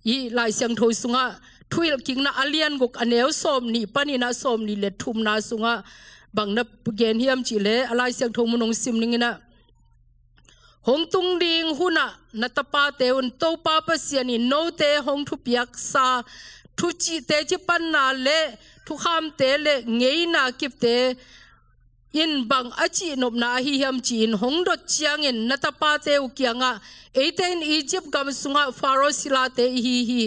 i Lai Siangtho sungah Thuhilhkikna a lian guk, a neu sawmnih pan in ah sawmnih leh thumna sungah bang na gen hiam cih leh, a Lai Siangtho mun hong sim ning in ah, hong tung ding hun ah na tapate un Topa Pasian in note hong thupiaksa thucihte, cipanna leh thukhamte leh ngeina kipte in bang a cihnopna ahi hiam ci-in hong dot ciangin, na tapate uh kiangah, eite in Egypt gam sungah Faro silate i hi hi.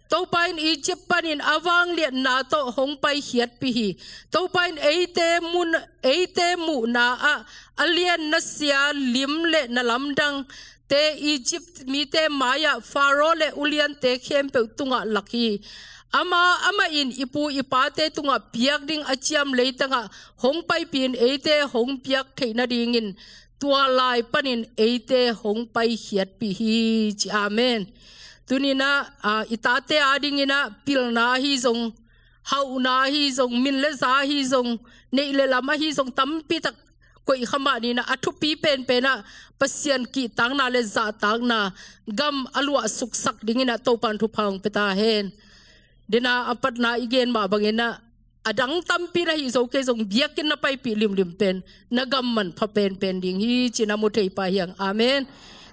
Topa in Egypt panin a vangliatna tawh hong paikhiatpih hi. Topa in eite mun, eite muhna ah a lian nasia lim leh na lamdang te Egypt mite mai-ah Faro leh uliante khempeuh tungah lak hi. Amah, amah in i pu i pate tungah piak ding a ciam leitangah hong paipih in eite hong piak theih nadingin tua lai panin eite hong paikhiatpih hi, ci. Amen. Tuni in ah, aa, i tate a ding in ah pilna ahi zong, hauhna ahi zong, min leh za ahi zong, neih leh lam ahi zong, tampi tak koih kha mah ni in ah, a thupi penpen ah Pasian kihtakna leh zahtakna gam a luahsuksak ding in ah Topa in thupha hong pia ta hen. Den a, a patna i gen mah bang in ah, a dang tampi na hih zo kei zong, biakinn na paipih limlim pen na gam manpha penpen ding hi, ci in ah mu thei pah hi hang. Amen.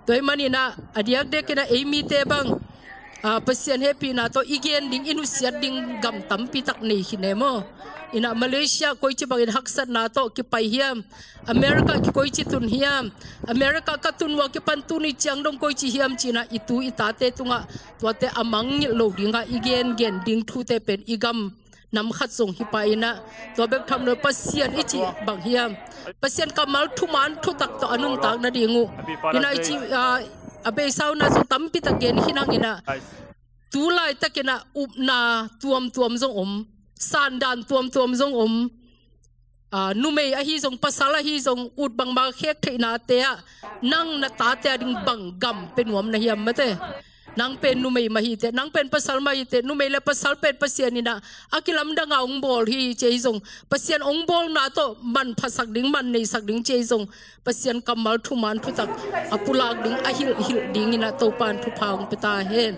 Tua ahih man in ah, a diakdiak in ah ei mite bang, aa, Pasian hehpihna tawh i gen ding, i nusiat ding gam tampi tak nei khin e maw. In ah Malaysia koici bangin haksatna tawh kipai hiam? America ki koici tun hiam? America ka tun uh a kipan tuni ciang dong koici hiam ci in ah i tu i tate tungah tuate a mangngilh lo dingah i gengen ding thute pen i gam nam khat zong hi pah in ah, tua bek tham lo, Pasian i cih bang hiam? Pasian kammal thuman thutak tawh a nuntak nading uh. In ah i cih, aa, a beisa uh na zong tampi tak gen khin hang in ah, tu laitak in ah upna tuamtuam zong om, sandan tuamtuam zong om. ah, numei ahi zong, pasal ahi zong, ut bangmah khek theihnate ah nang na tate a ding bang gam pe nuam na hiam mate? Nang pen numei mah hi teh, nang pen pasal mah hi teh, numei le pasal pen Pasian in ah a kilamdang a hong bawl hi ci hi zong, Pasian hong bawlna tawh manphasak ding, man neisak ding ci hi zong, Pasian kammal thuman thutak a pulak ding, a hilhhilh dingin ah Topa in thupha hong pia ta hen.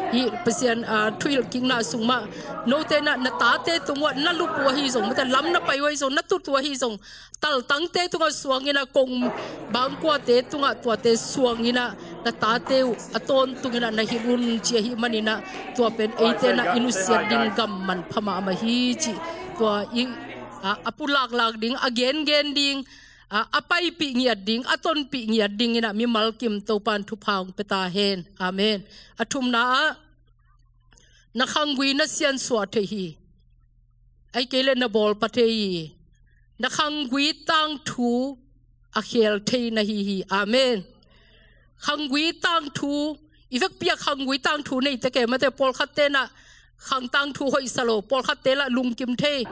Hih Pasian, ah, thuhilh kikna sung mah note in ah na tate tung uah na lup uh ahi zong, mate, lam na pai uh ahi zong, na tut uh ahi zong, taltangte tungah suangin ah, kong bangkuate tungah tuate suangin ah, na tate uh a tawntungin ah na hilh un ci ahih manin ah, tua pen eite in ah i nusiat ding gam manpha mahmah hi cih tua i, a, a pulaklak ding, a gengen ding, a, a paipih ngiat ding, a tonpih ngiat dingin ah mimal kim Topa in thupha hong pia ta hen. Amen. A thumna ah, na khanggui na siansuah thei hi. Ahih kei leh na bawl pha thei hi. Na khanggui tangthu a khel thei na hi hi. Amen. Khanggui tangthu, i vekpi ah khanggui tangthu nei teh, kei mate, pawlkhatte in ah khang tangthu hoihsa lo, pawlkhatte lah lungkim thei.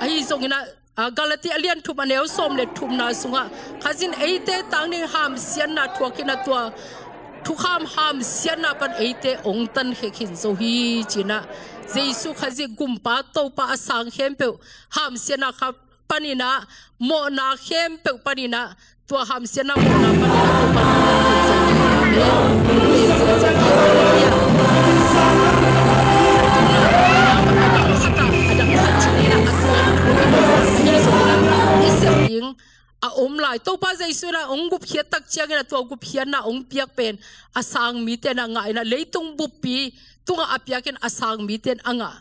Ahi zongin ah, a, Galati a lian thum a neu sawm le thumna sungah Kha Siangtho in eite tang ding hamsiatna thuakin ah tua thukham hamsiatna pan eite hong tankhia khin zo hi ci-in ah, Jesu Khazih Gumpa Topa a sang khempeuh hamsiatna kha panin ah, mawhna khempeuh panin ah, tua hamsiatna mawhna panin ah Topa in hong tankhia khin zo hi. Amen. A dang khat in ah a tuan thu in ah i sep ding a om lai. Topa Jesu in ah hong gupkhiat tak ciangin ah tua gupkhiatna hong piak pen a sang mite in ah ngah in ah, leitung buppi tungah a piakin a sang mite in a ngah.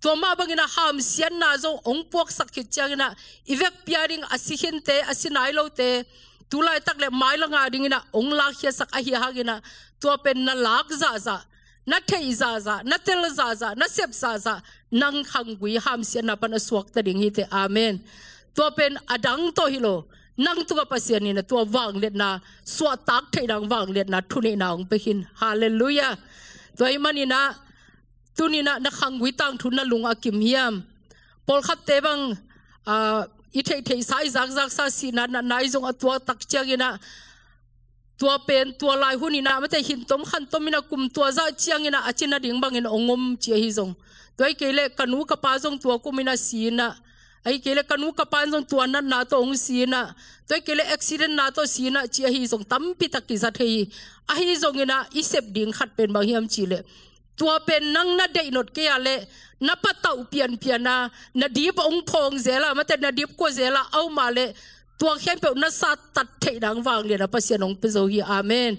Tua mah bangin ah hamsiatna zong hong puaksak khit ciangin ah i vekpi a ding a si khinte, a si nai lote, tu laitak le mailam a dingin ah hong lakkhiatsak ahih hangin ah tua pen na lak zahzah, na theih zahzah, na tel zahzah, na sep zahzah, nang khanggui hamsiatna pan a suakta ding hi teh. Amen. Tua pen a dang tawh hi lo, nang tungah Pasian in ah tua vangliatna, suahtak theih ding vangliatna, thuneihna hong pia khin. Halleluiah. Tua ahih manin ah tuni in ah na khanggui tangthu na lung a kim hiam? Pawlkhatte bang, ah, i theihtheihsa, i zakzaksa, sihna natna ahi zong a tuak tak ciangin ah tua pen tua lai hun in ah, mate, hin tom khan tom in ah kum tua zah ciangin ah a cina ding bangin hong om ci ahi zong, tua ahih kei leh ka nu ka pa zong tua kum in ah si in ah, ahih kei leh ka nu ka pa in zong tua natna tawh hong si in ah, tua ahih kei leh accident na tawh si in ah ci ahi zong, tampi tak kiza thei hi. Ahi zongin ah i sep ding khat pen bang hiam cih leh, tua pen nang na deih nop kei a leh, na patauh pianpian a, na dip hong phawng zel a, mate, na dip kua zel a, a om a leh, tua khempeuh na sattat theih ding vangliatna Pasian hong pia zo hi. Amen.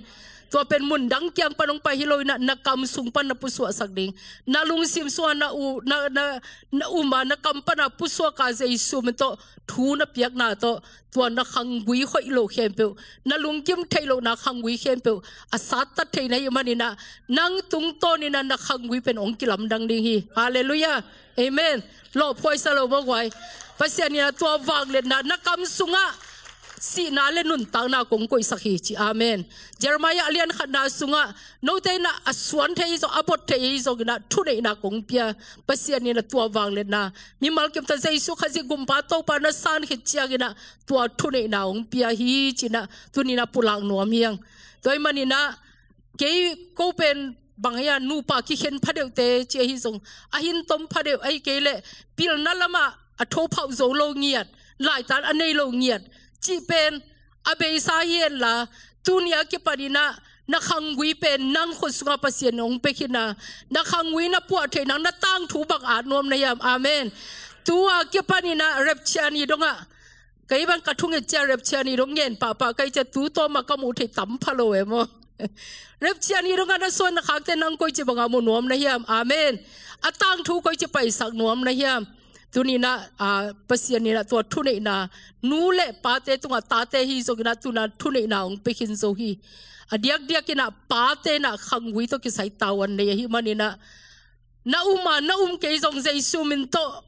Tua pen mun dang kiang pan hong pai hi lo in ah, na kam sung pan na pusuahsak ding, na lungsim sungah na u, na, na, na um a, na kam pan a pusuak a, Jesu min tawh thu na piakna tawh, tua na khanggui hoih lo khempeuh, na lungkim theih lohna khanggui khempeuh a sattat thei na hih manin ah, nang tungtawnin ah na khanggui pen hong kilamdang ding hi. Halleluiah. Amen. Lawhphuaisa lo mawk uai. Pasian in ah tua vangliatna na kam sungah sihna le nuntakna kong koihsak hi ci. Amen. Jeremiah a lian khatna sungah, note in ah a suan thei hi zong, a bot thei hi zongin ah thuneihna kong pia. Pasian in ah tua vangliatna, mimal kim tawh Jesu Khazih Gumpa Topa na san khit ciangin ah tua thuneihna hong pia hi ci-in ah tuni in ah pulak nuam hi hang. Tua ahih manin ah kei ko pen bang hia, nupa kikhen phadeuhte ci ahi zong, a hin tom phadeuh, ahih kei leh pilna lamah a thophauh zo lo ngiat, laitan a nei lo ngiat cih pen a beisa hi henla, tuni a kipanin ah na khanggui pen nang khut sungah Pasian hong pia khin a, na khanggui na puah theih nang, na tangthu bang at nuam na hiam? Amen. Tu a kipanin ah rapture ni dongah, kei bang ka thunget ciang rapture ni dong ngen pahpah ka hih ciang tu tawm a ka muh theih tam pha lo e maw. Rapture ni dongah na suan na khakte nang koici bangah mu nuam na hiam? Amen. A tangthu koici paisak nuam na hiam? Tuni in ah, a, Pasian in ah tua thuneihna, nu le pate tungah, tate hi zongin ah tuni in ah thuneihna hong pia khin zo hi. A diakdiakin ah pate in ah khanggui tawh kisai tavuan nei ahih manin ah, na um a na um kei zong Jesu min tawh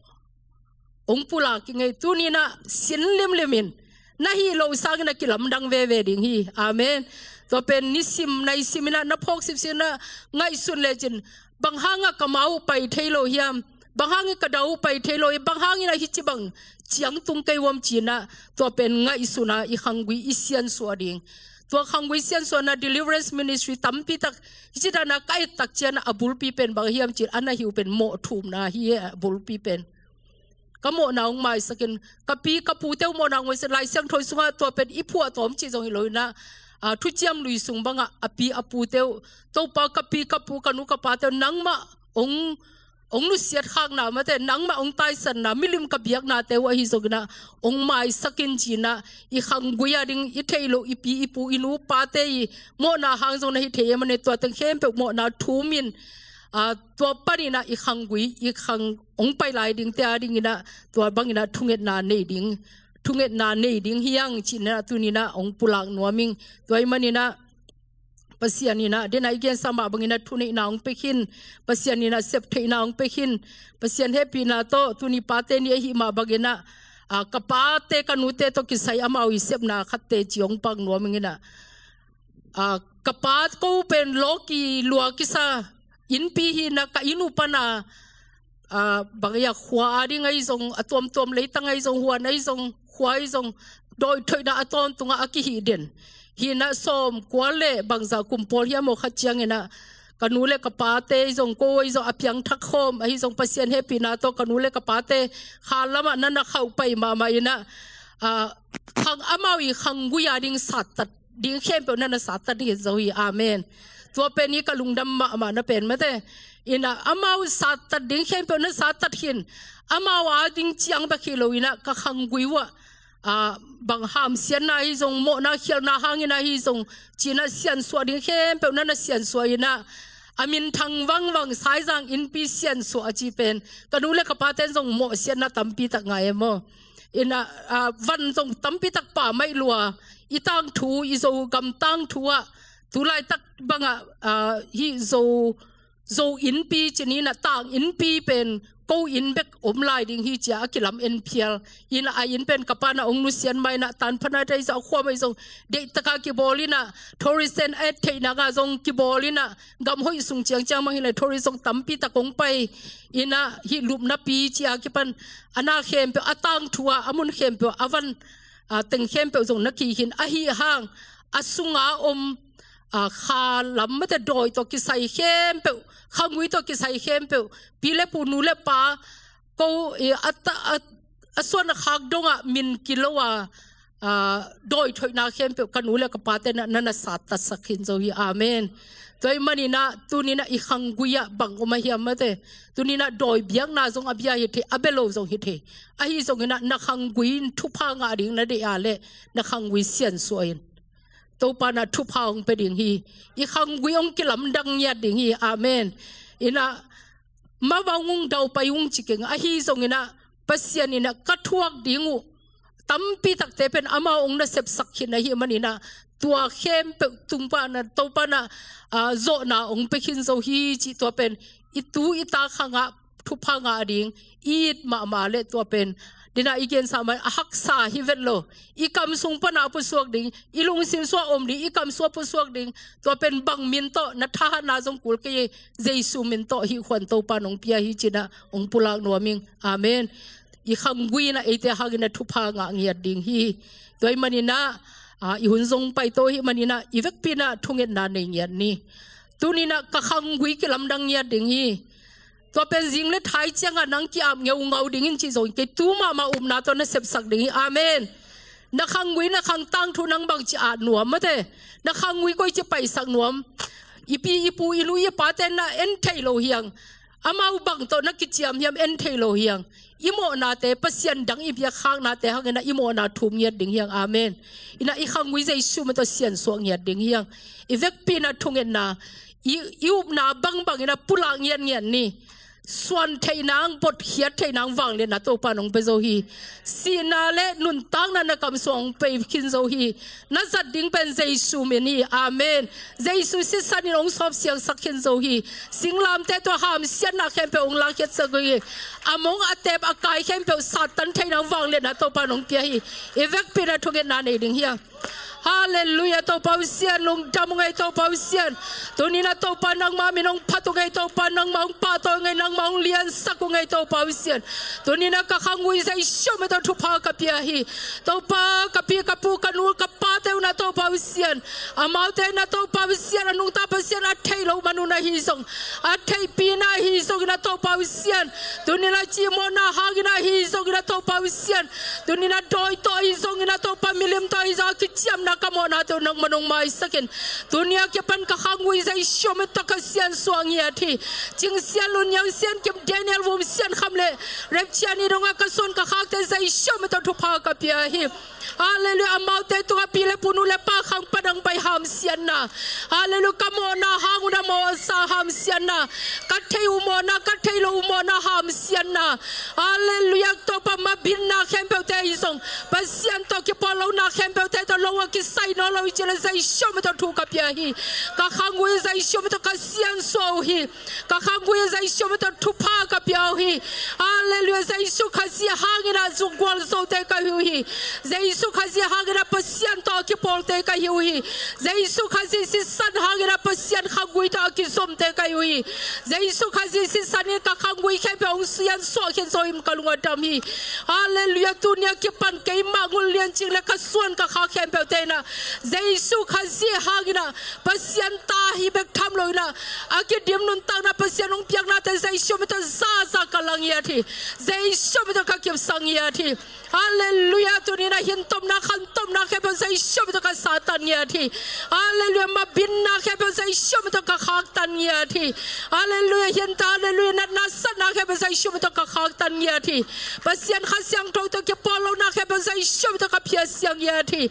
hong pulak ing ei. Tuni in ah sin limlim in, na hih loh sangin a kilamdang veve ding hi. Amen. Tua pen nisim naisim in ah, na phawk sipsip in ah ngaihsun lecin, bang hangah ka ma uh pai thei lo hiam? Bang hangin ka da uh pai thei lo hiam? Bang hangin ah hih ci bang ciang tung kei uam cinah, tua pen ngaihsuna i khanggui i siansuah ding. Tua khanggui siansuahna deliverance ministry tampi tak, hicitana ka et tak ciana a bulpi pen bang hiam cin, a na hiu pen mawh thumna hi a bulpi pen. Ka mawhna hong maisakin, ka pi ka pute uh mawhna hong maisak, Lai Siangtho sungah tua pen i phuah tawm cih zong hi loinah, a, thuciam lui sung bangah a pi a pute uh, Topa ka pi ka pu ka nu ka pate uh nangmah hong, hong nusiat khakna mate, nangmah hong taisanna, milim ka biaknate uh ahi zonginah hong maisakin cinah, i khanggui a ding i theih loh i pi i pu i nu pate i mawhna hang zong na hi thei e mane, tua teng khempeuh mawhna thumin, a, tua paninah i khanggui, i khang hong pai lai dingte a dinginah tua banginah thungetna nei ding, thungetna nei ding hiang cinah tuninah hong pulak nuaming. Tua i maninah Pasian inah, denah i gensa mah banginah thuneihna hong pekhin, Pasian inah septheihna hong pekhin, Pasian hehpihna tawh tuni pate ni ahi mah banginah, a, ka pate ka nute tawh kisai amau i sepna khatte ci hong pak nuaming inah, a, ka pa ko pen lawki lua kisa innpi hina, ka inn uh pana, a, bang ia khua a ding ahi zong, a tuamtuam leitang ahi zong, huan ahi zong, khua ahi zong, dawithoihna a tawntungah a kihih den. Hinah sawm kua le bangzah kum pawl hiam aw khat cianginah, ka nu le ka pate ahi zong, ko ahi zong, a piangthak khawm ahi zong, Pasian hehpihna tawh ka nu le ka pate kha lamah na na khauh pai mahmah inah, a, khang amau i khanggui a ding sattat ding khempeuh na na sattat hi zo hi. Amen. Tua pen hi ka lungdam mahmah na pen mate. Inah amau sattat ding khempeuh na sattat hin. Amau a ding ciang bek hi lo inah ka khanggui uah, a, bang hamsiatna hi zong, mawhna khialhna hangin ahi zong, cinah siansuah ding khempeuh na na siansuah inah, a minthang vangvang Saizang innpi siansuah a ci pen ka nu le ka paten zong mawhsiatna tampi tak ngai e maw. Inah, a, van zong tampi tak pammaih lua, i tangthu, i Zogam tangthu ah, tulaitak bangah, a, hih Zo, Zo innpi cininah tang innpi pen ko inn bek om lai ding hi cia a kilam en phial. Inah a inn pen ka panah hong nusiat mainah tanphanah dai zah khuam ahi zong deihtaka kibawl inah, tourist ten a et theihna ngah zong kibawl inah, gam hoih sung ciangciang mah hileh tourist zong tampi tak hong pai inah, hih lupnapi cia kipan a na khempeuh, a tangthu ah, a mun khempeuh, a van, a, teng khempeuh zong na kikhin ahi hang, a sunga om, a, kha lam mate dawi tawh kisai khempeuh, khanggui tawh kisai khempeuh, pi le pu nu le pa, ko, i, a ta, a, a suan a khak dongah min kilo a, a, dawithoihna khempeuh ka nu le ka pate na, na na sattatsak khin zo hi. Amen. Tua i maninah tuninah i khanggui ah bang om a hiam mate. Tuninah dawi biakna zong a bia hi thei, a bia lo zong hi thei. Ahi zonginah na khanggui in thupha ngah ding na deih a leh na khanggui siansuah in. Topa na thupha hong pia ding hi. I khanggui hong kilamdang ngiat ding hi. Amen. Inah mavang ung, daupai ung ci keng, ahi zonginah Pasian inah ka thuak ding uh tampi takte pen amau hong na sepsak khin ahi maninah, tua khempeuh tung panah Topa na, a, zawhna hong pia khin zo hi cih tua pen i tu i ta khangah thupha ngah ding i it mahmah leh tua pen denah i gensa mai a haksa hi vet lo. I kam sung panah pusuak ding, i lungsim sungah om ding, i kam sungah pusuak ding. Tua pen bang min tawh na thahatna zong kul kei, Jesu min tawh hih khuan Topa nong pia hi cinah hong pulak nuaming. Amen. I khanggui inah eite hangin a thupha ngah ngiat ding hi. Tua i maninah, a, i hun zong paito hi maninah i vekpi inah thungetna nei ngiat ni. Tuninah ka khanggui kilamdang ngiat ding hi. Tua pen zing le thai ciangah nang ki-ap ngeungau dingin cih zong kei, tu mahmah upna tawh na sepsak ding hi. Amen. Na khanggui, na khang tangthu nang bangci at nuam mate. Na khanggui koici paisak nuam. I pi i pu i nu i pate na en thei lo hiang. Amau bang tawh na kiciam hiam en thei lo hiang. I mawhnate, Pasian dang i biakkhaknate hanginah i mawhna thum ngiat ding hiang. Amen. Inah i khanggui Jesu min tawh siansuah ngiat ding hiang. I vekpi inah thungetna, i, i upna bangbang inah pulak ngiatngiat ni. Suan theih nang, botkhiat theih nang vangliatna Topa nong pia zo hi. Sihna le nuntakna na kam sungah hong pia khin zo hi. Na zat ding pen Jesu min hi. Amen. Jesu sisan in hong sawp siangsak khin zo hi. Singlamteh tawh hamsiatna khempeuh hong lakkhiatsak hi. A mong a teep a kai khempeuh Satan theih nang vangliatna Topa nong pia hi. I vekpi inah thungetna nei ding hiang. Halleluiah, Topa uh Sian, lungdam ung ei Topa uh Sian. Tuni-in ah Topa nangmah min hong phat ung ei Topa, nangmah hong pahtawi ung ei, nangmah hong liansak ung ei Topa uh Sian. Tuni-in ah ka khanggui Jesu min tawh thupha ka pia hi. Topa ka pi ka pu ka nu ka pate un ah Topa uh Sian, amaute in ah Topa uh Sian a nungta Pasian a theih loh man un ahi zong, a theihpihna ahi zongin ah Topa uh Sian, tuni-in ah cimawhna hangin ahi zongin ah Topa uh Sian, tuni-in ah dawi tawh ahi zongin ah Topa milim tawh ahi zong a kiciamna ka mawhnate uh nangman hong maisak in. Tuni a kipan ka khanggui Jesu min tawh ka siansuah ngiat hi. Cing Sian Lun, Niang Sian Kim, Daniel Vum, Sian Kham le Repchian i dongah ka suan ka khakte Jesu min tawh thupha ka pia hi. Halleluiah, amaute tungah pi le pu, nu le pa, khang padang pai hamsiatna, halleluiah, ka mawhna hang un a mawhsa hamsiatna, ka theih uh mawhna, ka theih loh uh mawhna hamsiatna, halleluiah, Topa mabitna khempeuhte ahi zong, Pasian tawh kipawl lohna khempeuhte tawh lo a kisai nawn lo hi ci-in ah Jesu min tawh thu ka pia hi. Ka khanggui Jesu min tawh ka siansuah uh hi. Ka khanggui Jesu min tawh thupha ka pia uh hi. Halleluiah, Jesu Khazih hangin ah zungkual zote ka hi uh hi. Jesu Khazih hangin ah Pasian tawh a kipawlte ka hi uh hi. Jesu Khazih sisan hangin ah Pasian khanggui tawh a kizomte ka hi uh hi. Jesu Khazih sisan in ka khanggui khempeuh hong siansuah khin zo hi, ka lung a dam hi. Halleluiah, tuni a kipan keimah Ngul Lian Cing le ka suan ka khak khempeuhte in ah Jesu Khazih hangin ah Pasian ta hi bek tham lo-in ah a kidim nuntakna Pasian hong piaknate Jesu min tawh zaza ka la ngiat hi. Jesu min tawh ka kipsak ngiat hi. Halleluiah, tuni-in ah hintopna khantopna khempeuh Jesu min tawh ka satan ngiat hi. Halleluiah, mabitna khempeuh Jesu min tawh ka khaktan ngiat hi. Halleluiah, hinta, halleluiah, natna satna khempeuh Jesu min tawh ka khaktan ngiat hi. Pasian Kha Siangtho tawh kipawl lohna khempeuh Jesu min tawh ka phiatsia ngiat hi.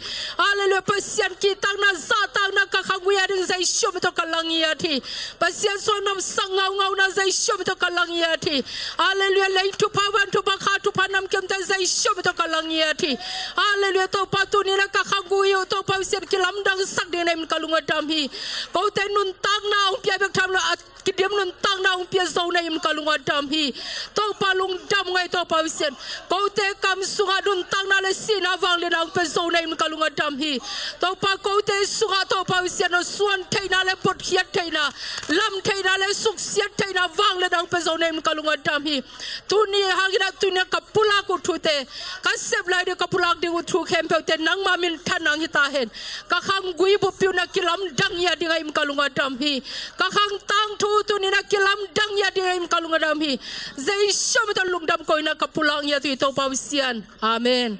Halleluiah, Pasian kihtakna zahtakna ka khanggui a ding Jesu min tawh ka la ngiat hi. Pasian suahnuamsak ngaungauna Jesu min tawh ka la ngiat hi. Halleluiah, lei thupha, van thupha, kha thupha, namkimte Jesu min tawh ka la ngiat hi. Halleluiah, Topa tuni-in ah ka khanggui uh Topa uh Sian kilamdangsak ding na hih manin ka lung a dam hi. Kote nuntakna hong pia bek tham lo, a kidim nuntakna hong pia zo na hih manin ka lung a dam hi. Topa lungdam ung ei Topa uh Sian. Kote kam sungah nuntakna le sihna vangliatna hong pia zo na hih manin ka lung a dam hi. Topa kote sungah Topa uh Sian aw, suan theihna le botkhiat theihna, lam theihna le suksiat theihna vangliatna hong pia zo na hih manin ka lung a dam hi. Tuni hangin ah tuni a ka pulak uh thute, ka sep lai ding ka pulak ding uh thu khempeuhte nangma minthanna hong hi ta hen. Ka khanggui buppi un ah kilamdang ngiat ding a hih manin ka lung a dam hi. Ka khang tangthu tuni-in ah kilamdang ngiat ding a hih manin ka lung a dam hi. Jesu min tawh lungdam ko-in ah ka pulak ngiat uh hi Topa uh Sian. Amen.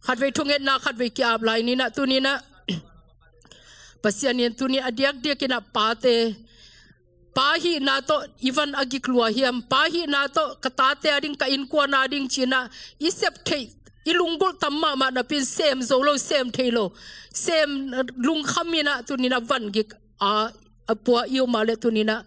Khatvei thungetna khatvei ki-ap lai ni-in ah tuni-in ah Pasian in tuni a diakdiakin ah pate, pa hihna tawh i van a gik lua hiam? Pa hihna tawh ka tate a ding, ka innkuan a ding ci-in ah i sep theih, i lunggulh tam mahmah napi-in sem zo lo, sem thei lo, sem lungkham in ah tuni-in ah van gik a, a pua i om a leh tuni-in ah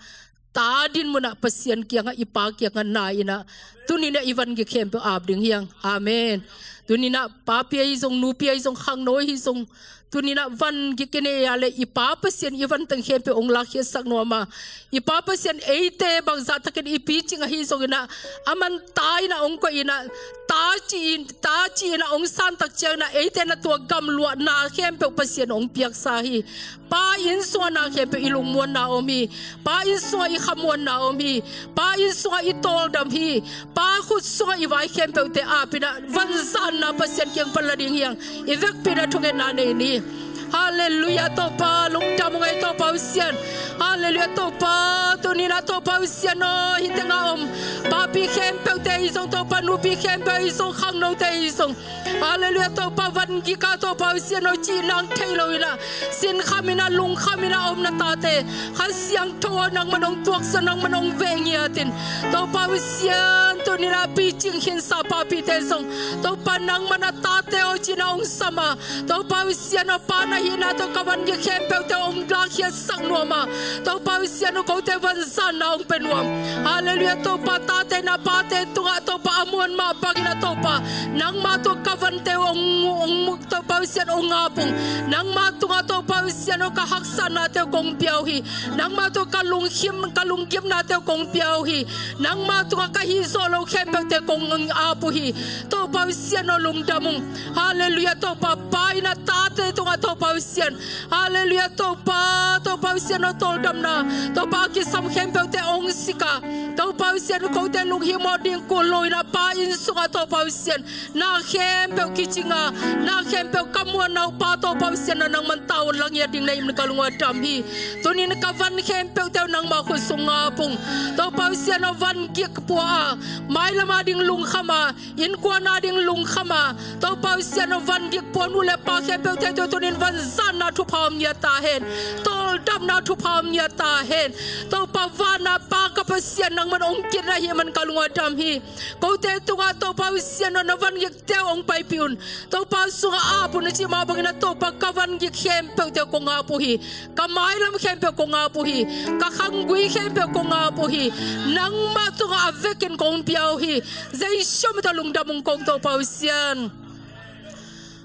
ta din mun ah Pasian kiangah, i pa kiangah na in ah tuni-in ah i van gik khempeuh ap ding hi hang. Amen. Tuni-in ah papi ahi zong, nupi ahi zong, khangno ahi zong, tuni-in ah van gik i nei a leh i Pa Pasian i van teng khempeuh hong lakkhiatsak nuam a. I Pa Pasian eite bangzah takin i picing ahi zongin ah aman ta in ah hong koih in ah, ta ci-in, ta ci-in ah hong san tak ciangin ah eite na tua gamluahna khempeuh Pasian hong piaksa hi. Pa inn sungah na khempeuh i lungmuanna om hi. Pa inn sungah i khamuanna om hi. Pa inn sungah i tawldam hi. Pa khut sungah i vai khempeuhte ap in ah vanzanna Pasian kiang pan la ding hi hang. I vekpi-in ah thungetna nei ni. Halleluiah, Topa lungdam ung ei Topa uh Sian. Halleluiah, Topa tuni-in ah Topa uh Sian aw, hih tengah om papi khempeuhte ahi zong Topa, nupi khempeuh ahi zong, khangnote ahi zong, halleluiah, Topa van gik a Topa uh Sian aw, cih nang thei lo-in ah sinkham in ah, lungkham in ah om na tate, Kha Siangtho aw, nangman hong tuaksa, nangman hong veh ngiat in. Topa uh Sian, tuni-in ah picing khinsa papite zong Topa nangman a tate aw ci-in ah hong sam a, Topa uh Sian aw, pa na hihna tawh ka van gik khempeuhte hong lakkhiatsak nuam a, Topa uh Sian aw, kote vanzanna hong pia nuam. Halleluiah, Topa tate na pate tungah Topa a muan mah bangin ah Topa nangma tungah ka vante uh hong, hong, Topa uh Sian aw, hong ap ung. Nangma tungah Topa uh Sian aw, ka haksatnate uh kong pia uh hi. Nangma tungah ka lungkhim, ka lunggimnate uh kong pia uh hi. Nangma tungah ka hihzawh no khempeuhte kong ap uh hi. Topa Pasian aw, lungdam ung. Halleluiah. Topa, pa in a tate tungah Topa Pasian, halleluiah, Topa, Topa Pasian aw, tawldamna, Topa, a kisam khempeuhte hong sik a, Topa Pasian, kote lunghimawh ding kul lo in a pa inn sungah Topa Pasian, na khempeuh kicing a, na khempeuh ka muanna uh pa Topa Pasian aw, nangman tavuan la ngiat ding na hih manin ka lungdam hi. Tuni-in ka van khempeuhte uh nangma khut sung ap ung. Topa Pasian aw, van gik pua a, mailam a ding lungkham a, innkuan a ding lungkham a, Topa Pasian aw, van gik pua nu le pa khempeuhte tungah tuni-in vanzatna thupha om ngiat ta hen. Tawldamna thupha om ngiat ta hen. Topa, van a Pa ka Pasian, nangman hong kit na hih manin ka lungdam hi. Kote tungah Topa Pasian aw, na van gikte uh hong paipih un. Topa sungah ap un, na cih mah bangin a Topa, ka van gik khempeuhte uh kong ap uh hi. Ka mailam khempeuh kong ap uh hi. Ka khanggui khempeuh kong ap uh hi. Nangmah tungah a vekin kong pia uh hi. Jesu min tawh lungdam ung kong Topa Pasian.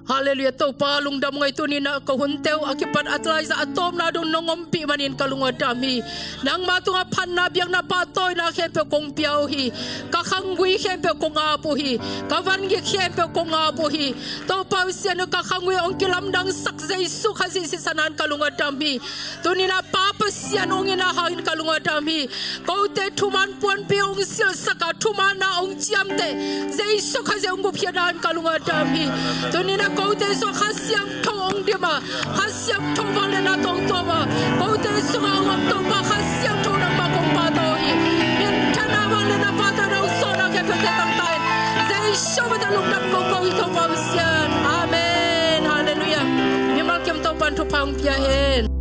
Halleluiah. Topa, lungdam ung ei, tuni-in a ka hunte uh a kipat a tlaizah a tawpna dong nong ompih manin ka lungdam hi. Nangmah tungah phatna, biakna, pahtawina khempeuh kong pia uh hi. Ka khanggui khempeuh kong ap uh hi. Ka van gik khempeuh kong ap uh hi. Topa Pasian aw, ka khanggui hong kilamdangsak Jesu Khazih sisan in ka lungdam hi. Tuni-in a Pa Pasian hong in a hangin ka lungdam hi. Kote thuman puanpi hong silhsak a, thuman a hong ciamteh Jesu Khazih hong gupkhiatna in ka lungdam hi. Tuni-in a kote sungah Kha Siangtho hong dim a, Kha Siangtho vangliatna tawh hong tuam a, kote sungah hong om Topa Kha Siangtho nangmah kong pahtawi hi. Minthanna, vangliatna, pahtawina, hong sawlna khempeuhte tang ta in. Jesu min tawh lungdam kong ko hi Topa Pasian. Amen. Halleluiah. Mimal kim Topa'n thupha hong pia hen.